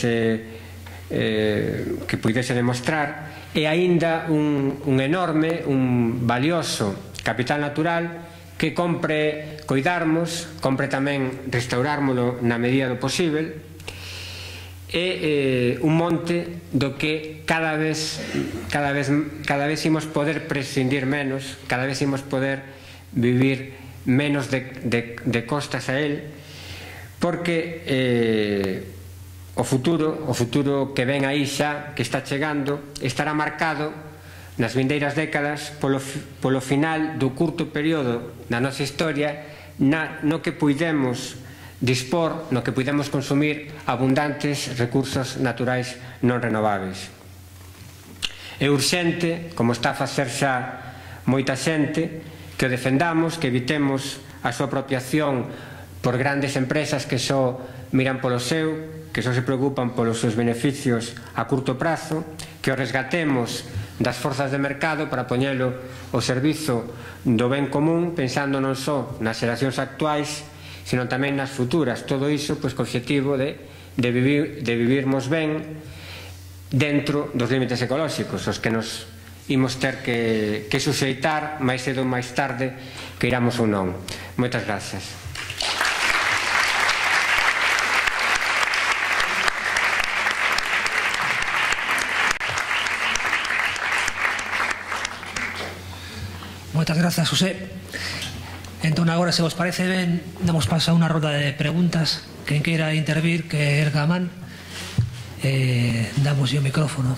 puidese demostrar, é aínda un enorme, un valioso capital natural que compre coidarmos, compre tamén restaurármolo na medida do posível. É un monte do que cada vez imos poder prescindir menos, cada vez imos poder vivir menos de costas a él, porque o futuro que ven aí xa, que está chegando, estará marcado nas vindeiras décadas polo final do curto período da nosa historia no que puidemos dispor, no que puidemos consumir abundantes recursos naturais non renováveis. É urxente, como está a facer xa moita xente, que o defendamos, que evitemos a súa apropiación por grandes empresas que só miran polo seu, que só se preocupan polos seus beneficios a curto prazo, que o resgatemos das forzas de mercado para poñelo ao servizo do ben común, pensando non só nas xeracións actuais, sino tamén nas futuras. Todo iso co obxectivo de vivirmos ben dentro dos límites ecolóxicos, os que nos imos ter que suxeitar máis cedo ou máis tarde, que iramos ou non. Moitas gracias. Moitas grazas, José. Entón, agora, se vos parece ben, damos paso a unha roda de preguntas. Quen queira intervir, que erga a man, damos o micrófono.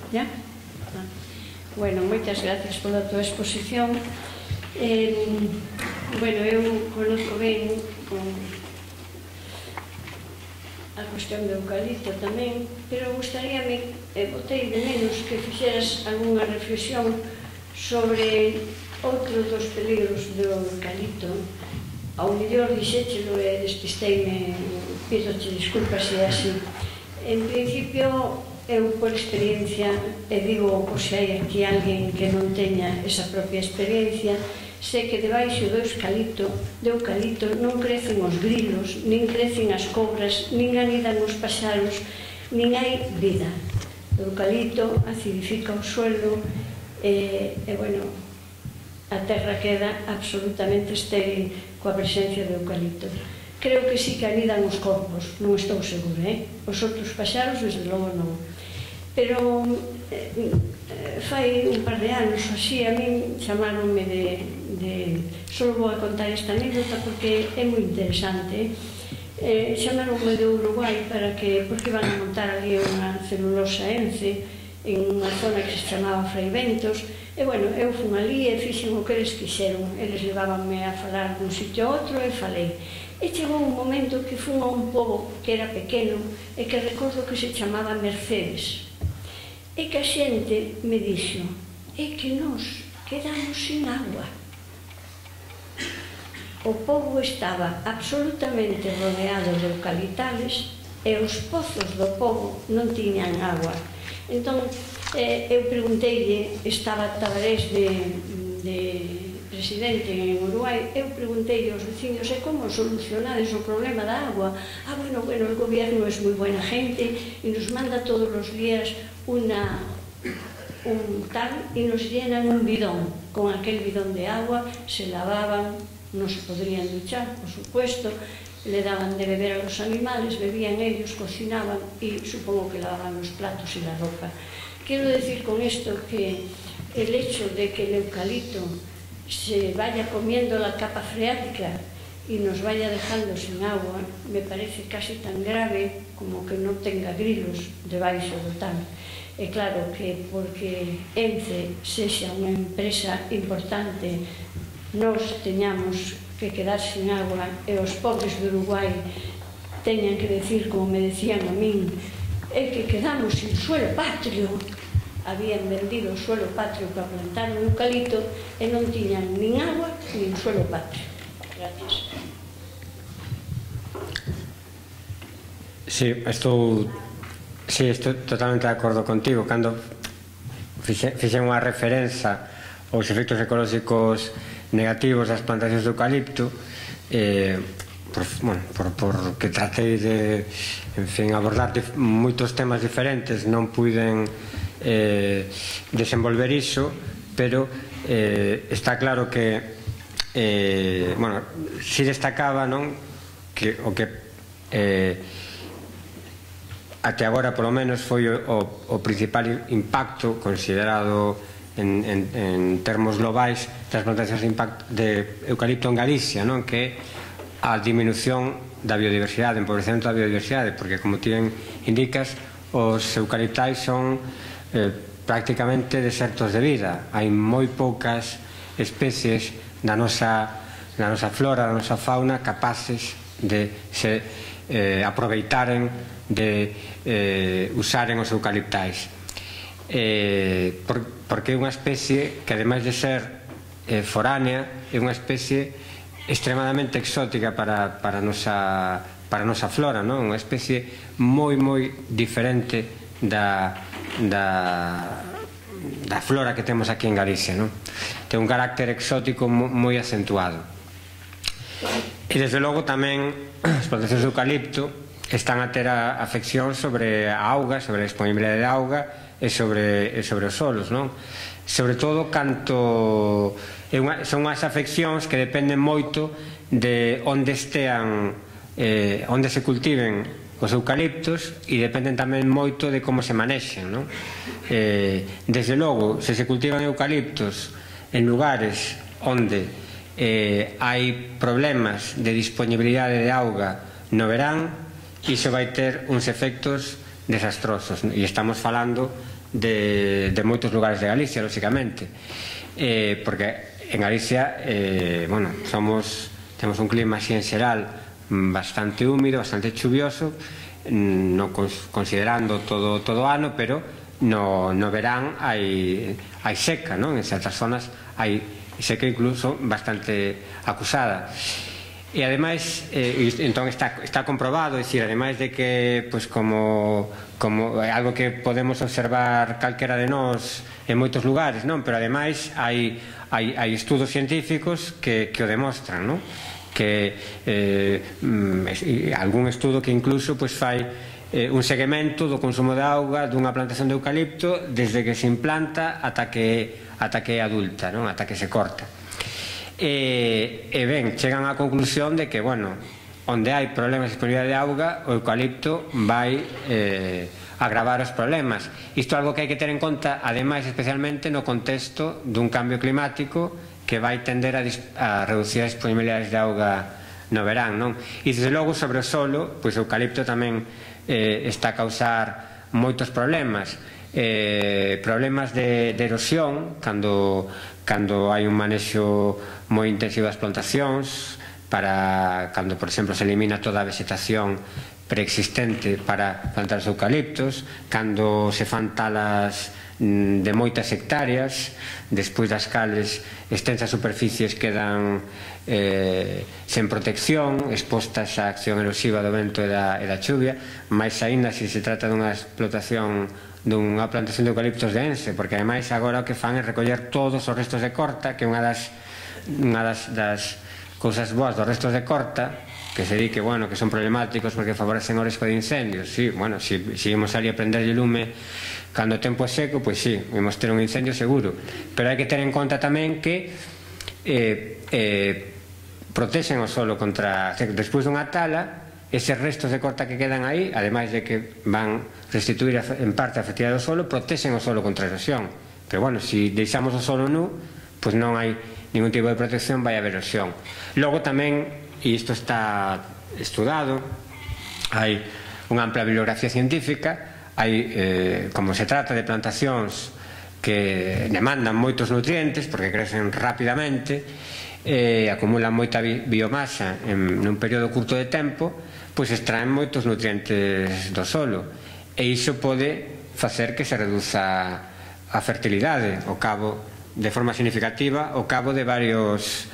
Ya? Bueno, moitas gracias pola tua exposición. Bueno, eu conozco ben a cuestión do eucalipto tamén, pero gustaríame, botei de menos que fixeras algunha reflexión sobre outro dos peligros do eucalipto. Ao mellor dixéchelo e despisteime, pidoche disculpas se é así. En principio, eu por experiencia, e digo por se hai aquí alguén que non teña esa propia experiencia, sei que debaixo do eucalipto non crecen os grilos, nin crecen as cobras, nin anidan os paxaros, nin hai vida. O eucalipto acidifica o suelo, bueno, a terra queda absolutamente estéril coa presencia do eucalipto. Creo que sí que anidan os corpos, non estou segura, os outros paxaros, desde logo non. Pero fai un par de anos, así, a min chamaronme só vou a contar esta anécdota porque é moi interesante. Chamaronme de Uruguai porque iban a montar ali unha celulosa ENCE en unha zona que se chamaba Fraiventos, e, bueno, eu fun ali e fixen o que eles quixeron. Eles levábanme a falar dun sitio a outro e falei. E chegou un momento que fun a un pobo que era pequeno e que recordo que se chamaba Mercedes. E que a xente me dixo, é que nos quedamos sin agua. O pobo estaba absolutamente rodeado de eucaliptales e os pozos do pobo non tiñan agua. Entón, eu pregunteille, estaba Tabarés de presidente en Uruguai, eu pregunteille aos vecinos, e como solucionades o problema da agua? Bueno, el gobierno es moi buena gente e nos manda todos os días un tal e nos llenan un bidón. Con aquel bidón de agua se lavaban, non se podrían duchar, por supuesto, le daban de beber a los animales, bebían ellos, cocinaban y supongo que lavaban los platos y la ropa. Quiero decir con esto que el hecho de que el eucalipto se vaya comiendo la capa freática y nos vaya dejando sin agua me parece casi tan grave como que non tenga grilos debaixo do tanque. É claro que porque ENCE sexa unha empresa importante nos teñamos que quedar sin agua e os pobres de Uruguai teñan que decir, como me decían a min, é que quedamos sin suelo patrio. Habían vendido o suelo patrio para plantar un eucalipto e non tiñan nin agua nin suelo patrio. Gracias. Sí, estou totalmente de acordo contigo. Cando fixen unha referencia aos efectos ecolóxicos negativos das plantacións de eucalipto, porque tratei de abordar moitos temas diferentes, non puiden desenvolver iso, pero está claro que si destacaba que o que até agora polo menos foi o principal impacto considerado en termos globais das plantacións de eucalipto en Galicia, que é a diminución da biodiversidade, empobrecemento da biodiversidade, porque como ti indicas, os eucaliptais son prácticamente desertos de vida. Hai moi poucas especies da nosa flora, da nosa fauna capaces de se aproveitaren, de usaren os eucaliptais, porque é unha especie que, ademais de ser foránea, é unha especie extremadamente exótica para a nosa flora, unha especie moi diferente da flora que temos aquí en Galicia. Ten un carácter exótico moi acentuado. E desde logo tamén as plantacións de eucalipto están a ter afección sobre a auga, sobre a disponibilidade de auga e sobre os solos, sobre todo canto son as afeccións que dependen moito de onde estean, onde se cultiven os eucaliptos, e dependen tamén moito de como se manexen. Desde logo, se se cultivan eucaliptos en lugares onde hai problemas de disponibilidade de auga no verán, iso vai ter uns efectos desastrosos, e estamos falando de moitos lugares de Galicia, lóxicamente, porque en Galicia temos un clima así en xeral bastante húmido, bastante chuvioso, non considerando todo o ano, pero no verán hai seca, en certas zonas hai seca incluso bastante acusada. E ademais, entón está comprobado, é dicir, ademais de que como é algo que podemos observar calquera de nós en moitos lugares, pero ademais hai estudos científicos que o demostran, que algún estudo que incluso fai un seguimento do consumo de auga dunha plantación de eucalipto desde que se implanta ata que é adulta, ata que se corta. E ben, chegan á conclusión de que, bueno, onde hai problemas de disponibilidade de auga, o eucalipto vai agravar os problemas. Isto é algo que hai que ter en conta, ademais, especialmente no contexto dun cambio climático que vai tender a reducir as disponibilidades de auga no verán, non? E, desde logo, sobre o solo, pois o eucalipto tamén está a causar moitos problemas. Problemas de erosión, cando hai un manexo moi intensivo das plantacións, cando, por exemplo, se elimina toda a vegetación preexistente para plantar os eucaliptos, cando se fan talas de moitas hectáreas, despois das cales extensas superficies quedan sen protección, expostas á acción erosiva do vento e da chuvia, máis aínda se se trata dunha explotación dunha plantación de eucaliptos de Ense, porque ademais agora o que fan é recoller todos os restos de corta, que é unha das cousas boas dos restos de corta, que se di que, bueno, que son problemáticos porque favorecen o risco de incendios. Sí, bueno, se imos ali a prenderlle lume cando o tempo é seco, pois sí, imos ter un incendio seguro, pero hai que ter en conta tamén que protexen o solo contra, despois dunha tala, eses restos de corta que quedan aí, ademais de que van restituir en parte a fertilidade do solo, protexen o solo contra a erosión. Pero, bueno, se deixamos o solo nu, pois non hai ningún tipo de protección, vai haber erosión. Logo tamén, e isto está estudado, hai unha ampla bibliografía científica, hai, como se trata de plantacións que demandan moitos nutrientes porque crecen rapidamente, acumulan moita biomasa nun período curto de tempo, pois extraen moitos nutrientes do solo, e iso pode facer que se reduza a fertilidade ao cabo, de forma significativa, ao cabo de varios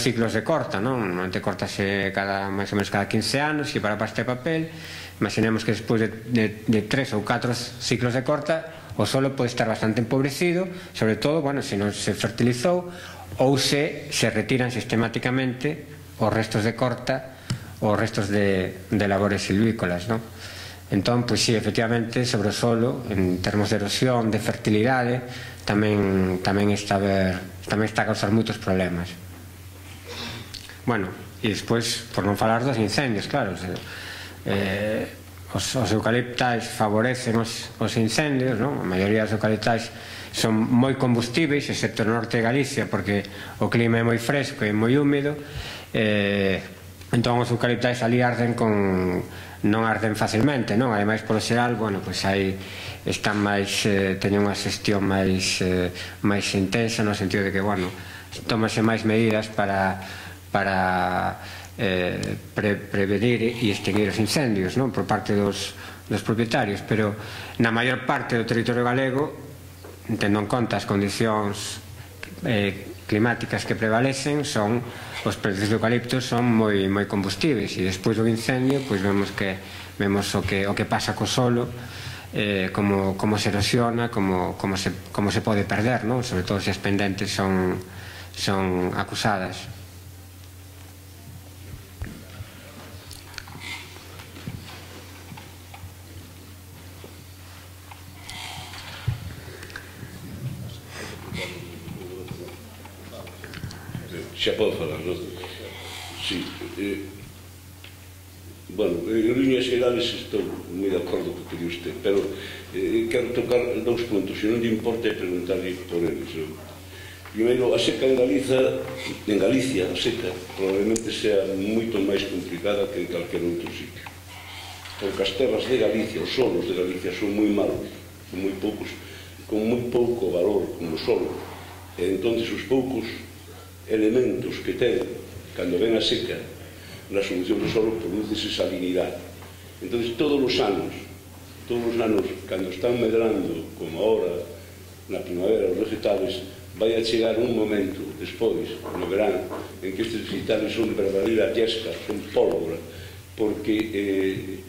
ciclos de corta, non? Normalmente cortase máis ou menos cada 15 anos, e para pasta de papel, imaginemos que despois de 3 ou 4 ciclos de corta, o solo pode estar bastante empobrecido, sobre todo, bueno, se non se fertilizou, ou se retiran sistemáticamente os restos de corta, os restos de labores silvícolas, non? Entón, pois sí, efectivamente, sobre o solo, en termos de erosión, de fertilidade, tamén está a causar moitos problemas. Bueno, e despois, por non falar dos incendios, claro, os eucaliptais favorecen os incendios, non? A maioría dos eucaliptais son moi combustíveis, excepto no norte de Galicia, porque o clima é moi fresco e moi húmido, entón os eucaliptais ali non arden facilmente, non? Ademais, polo xeral, bueno, pois teñen unha xestión máis intensa, no sentido de que, bueno, tómase máis medidas para prevenir e extinguir os incendios, non? Por parte dos propietarios, pero na maior parte do territorio galego, tendo en conta as condicións climáticas que prevalecen, os precios de eucaliptos son moi combustíveis, e despois do incendio pois vemos o que pasa co solo, como se erosiona, como se pode perder, non? Sobre todo se as pendentes son acusadas. Xa podo falar, non? Sí. Bueno, en líneas xerales estou moi de acordo co que di usted, pero quero tocar 2 puntos, se non lle importa preguntarlle por eles. Primeiro, a seca en Galicia, a seca probablemente sea moito máis complicada que en calquer outro sitio, porque as terras de Galicia, os solos de Galicia son moi malos, son moi poucos, con moi pouco valor como solo, e entón os poucos elementos que ten cando ven a seca na solución do solo produce salinidade. Entón, todos os anos, cando están medrando, como ahora na primavera, os vegetales, vai a chegar un momento despois, no verán, en que estes vegetales son verdadeira yesca, son pólvora, porque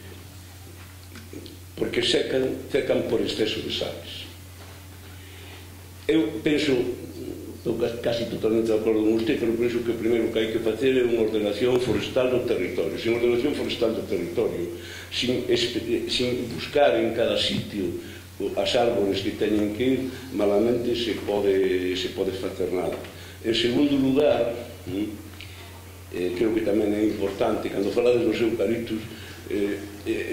secan por exceso de sales. Eu penso estou casi totalmente de acordo con usted, pero penso que primeiro que hai que facer é unha ordenación forestal do territorio. Sin ordenación forestal do territorio, sin buscar en cada sitio as árbores que teñen que ir, malamente se pode facer nada. En segundo lugar, creo que tamén é importante, cando falades dos eucaliptos,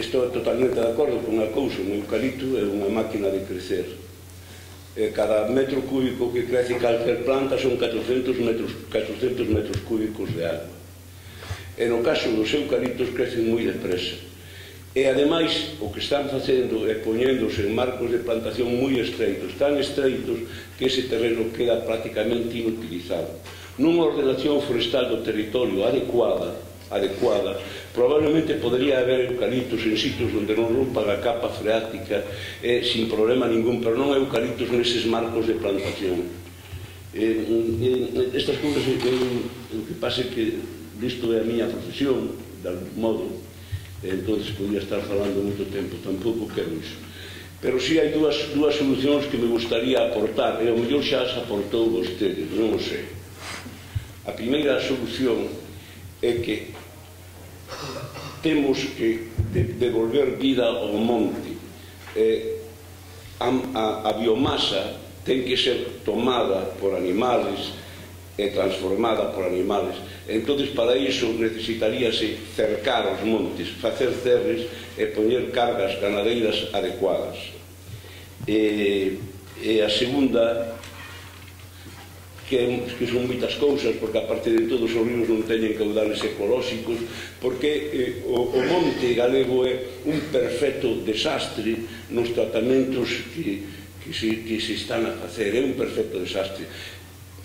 estou totalmente de acordo con unha cousa: un eucalipto é unha máquina de crecer. Cada metro cúbico que crece calquer planta son 400 metros cúbicos de agua. E no caso dos eucaliptos crecen moi depresa. E ademais o que están facendo é poñéndose en marcos de plantación moi estreitos, tan estreitos que ese terreno queda prácticamente inutilizado. Nunha ordenación forestal do territorio adecuada, probablemente podría haber eucaliptos en sitios onde non rompan a capa freática sin problema ningún, pero non eucaliptos neses marcos de plantación. Estas cousas, o que pasa é que isto é a miña profesión, de algún modo, entón podría estar falando moito tempo, tampouco quero iso. Pero si hai dúas solucións que me gustaría aportar, e ao mellor xa as aportou vostede, non o sei. A primeira solución é que temos que devolver vida ao monte. A biomasa ten que ser tomada por animales e transformada por animales. Entón, para iso necesitaríase cercar os montes, facer cerres e poñer cargas ganadeiras adecuadas. E a segunda, que son moitas cousas, porque a parte de todos os ríos non teñen caudales ecolóxicos, porque o monte galego é un perfecto desastre nos tratamentos que se están a facer, é un perfecto desastre.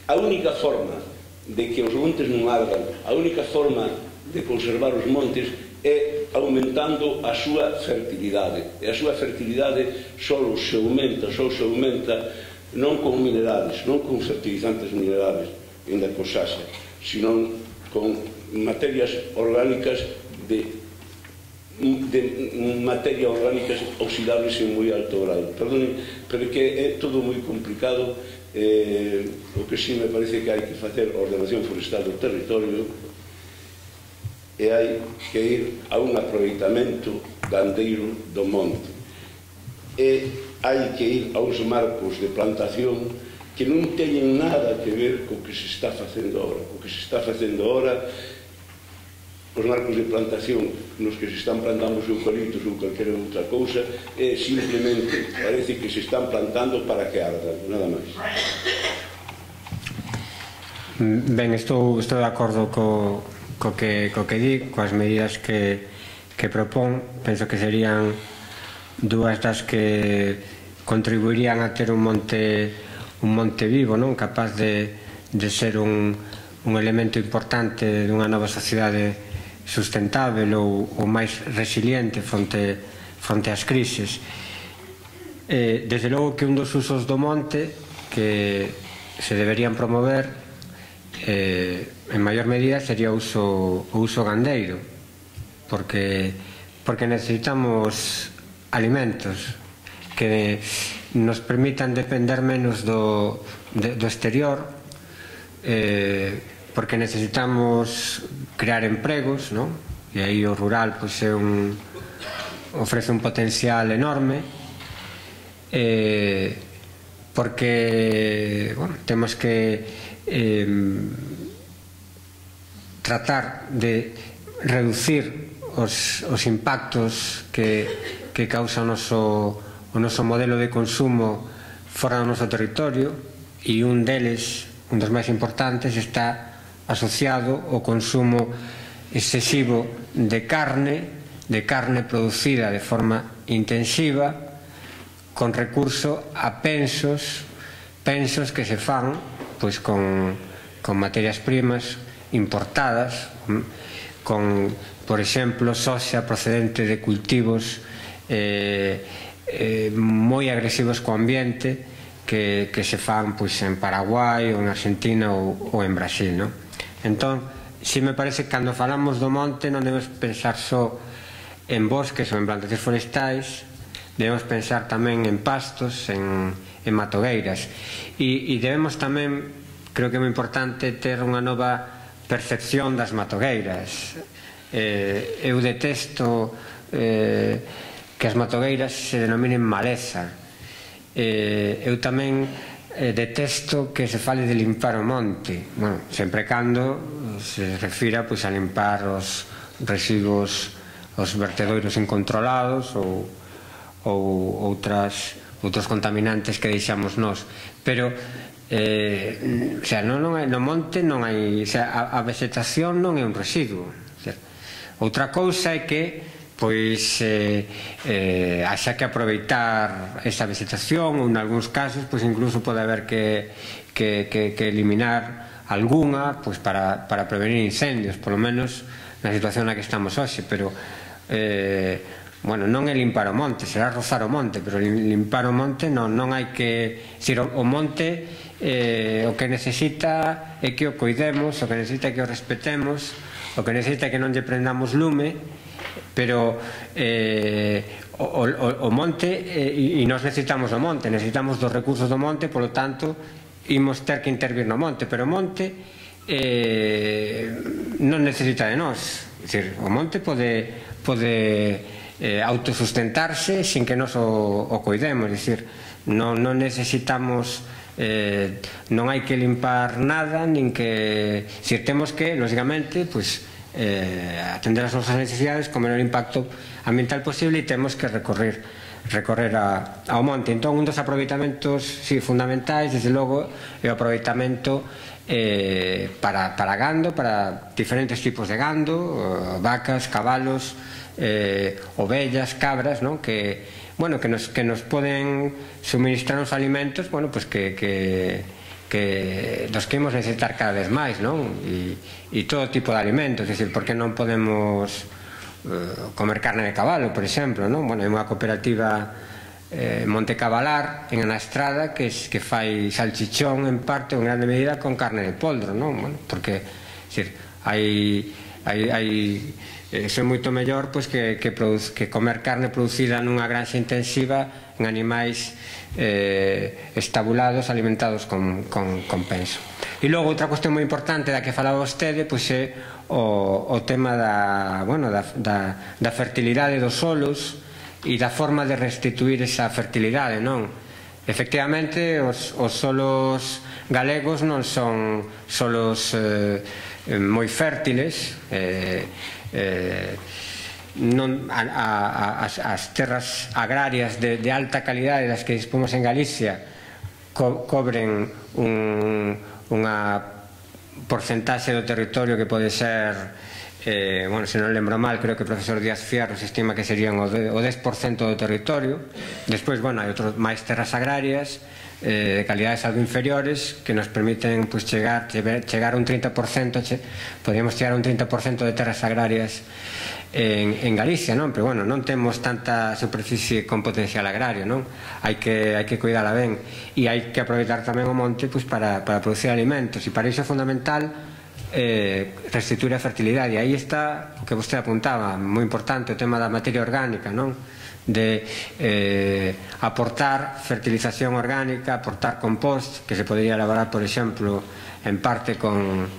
A única forma de que os montes non ardan, a única forma de conservar os montes é aumentando a súa fertilidade. E a súa fertilidade só se aumenta non con minerales, non con fertilizantes minerales en da cosaxa, sino con materias orgánicas materia orgánicas oxidables en moi alto grado. Perdón, pero que é todo moi complicado. O que sí me parece que hai que facer ordenación forestal do territorio e hai que ir a un aproveitamento gandeiro do monte, e hai que ir a uns marcos de plantación que non teñen nada que ver co que se está facendo agora. O que se está facendo agora, os marcos de plantación nos que se están plantando os eucaliptos ou calquera outra cousa, simplemente parece que se están plantando para que ardan, nada máis. Ben, estou de acordo co que di, coas medidas que propón. Penso que serían dúas das que contribuirían a ter un monte vivo, non? Capaz de ser un elemento importante dunha nova sociedade sustentável ou máis resiliente fronte ás crises. Desde logo que un dos usos do monte que se deberían promover en maior medida sería o uso gandeiro, porque necesitamos alimentos que nos permitan depender menos do exterior, porque necesitamos crear empregos, non? E aí o rural ofrece un potencial enorme, porque temos que tratar de reducir os impactos que causa o noso modelo de consumo fora do noso territorio, e un dos máis importantes está asociado ao consumo excesivo de carne producida de forma intensiva, con recurso a pensos que se fan con materias primas importadas, por exemplo, soxa procedente de cultivos moi agresivos co ambiente que se fan en Paraguai ou en Argentina ou en Brasil, non? Entón, si me parece que cando falamos do monte non debemos pensar só en bosques ou en plantacións forestais, debemos pensar tamén en pastos, en matogueiras, e debemos tamén creo que é moi importante ter unha nova percepción das matogueiras. Eu detesto que as matogueiras se denominen maleza. Eu tamén detesto que se fale de limpar o monte, bueno, sempre cando se refira a limpar os residuos, os vertedoiros incontrolados ou outros contaminantes que deixamos nós, pero no monte non hai, a vegetación non é un residuo. Outra cousa é que pois haxa que aproveitar esa vegetación, ou en algúns casos pois incluso pode haber que eliminar algunha pois para prevenir incendios, polo menos na situación na que estamos hoxe, pero bueno, non é limpar o monte, será rozar o monte, pero limpar o monte non hai que, decir, o monte o que necesita é que o coidemos, o que necesita é que o respetemos, o que necesita é que non lle prendamos lume, pero o monte, e nós necesitamos o monte, necesitamos dos recursos do monte, polo tanto imos ter que intervir no monte, pero o monte non necesita de nós, o monte pode autosustentarse sin que nós o coidemos, non necesitamos, non hai que limpar nada, nin que, temos que, lógicamente, atender as nosas necesidades con menor impacto ambiental posible, e temos que recorrer ao monte. Entón, un dos aproveitamentos fundamentais, desde logo, é o aproveitamento para gando, para diferentes tipos de gando, vacas, cabalos, ovellas, cabras, que nos poden suministrar os alimentos dos que imos necesitar cada vez máis, e todo tipo de alimentos, porque non podemos comer carne de cabalo, por exemplo, hai unha cooperativa Monte Cabalar en Ana Estrada que fai salchichón en parte, en grande medida, con carne de poldro, porque é moito mellor que comer carne producida nunha granxa intensiva en animais estabulados, alimentados con penso. E logo, outra cuestión moi importante da que falaba vostede é o tema da fertilidade dos solos e da forma de restituir esa fertilidade. Efectivamente, os solos galegos non son solos moi fértiles, as terras agrarias de alta calidade das que dispomos en Galicia cobren unha porcentaxe do territorio que pode ser, se non lembro mal, creo que o profesor Díaz Fierro se estima que serían o 10% do territorio. Despois, hai outras máis terras agrarias de calidades algo inferiores que nos permiten chegar a un 30%, podríamos chegar a un 30% de terras agrarias en Galicia, pero non temos tanta superficie con potencial agrario, hai que cuidala ben, e hai que aproveitar tamén o monte para producir alimentos, e para iso é fundamental restituir a fertilidade. E aí está o que vostede apuntaba, moi importante, o tema da materia orgánica, de aportar fertilización orgánica, aportar compost, que se podría elaborar, por exemplo, en parte con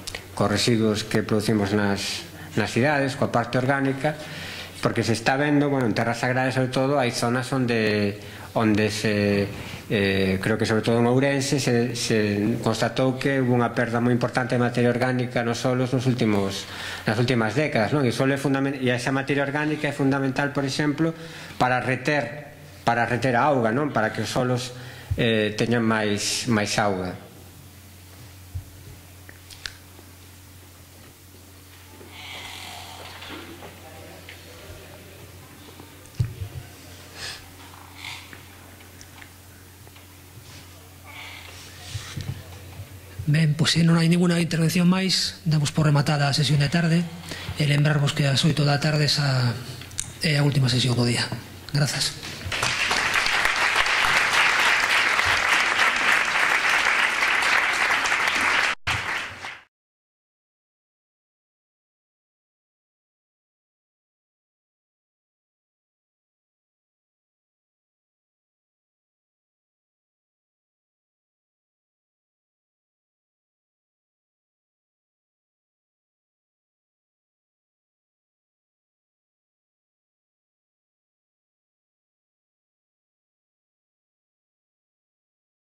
residuos que producimos nas cidades, coa parte orgánica, porque se está vendo, en terras agrarias sobre todo, hai zonas onde creo que sobre todo en Ourense se constatou que hubo unha perda moi importante de materia orgánica nos solos nas últimas décadas, e esa materia orgánica é fundamental, por exemplo, para reter a auga, para que os solos teñan máis auga. Ben, pois se non hai ninguna intervención máis, damos por rematada a sesión de tarde e lembrarvos que ás 8 da tarde é a última sesión do día. Grazas.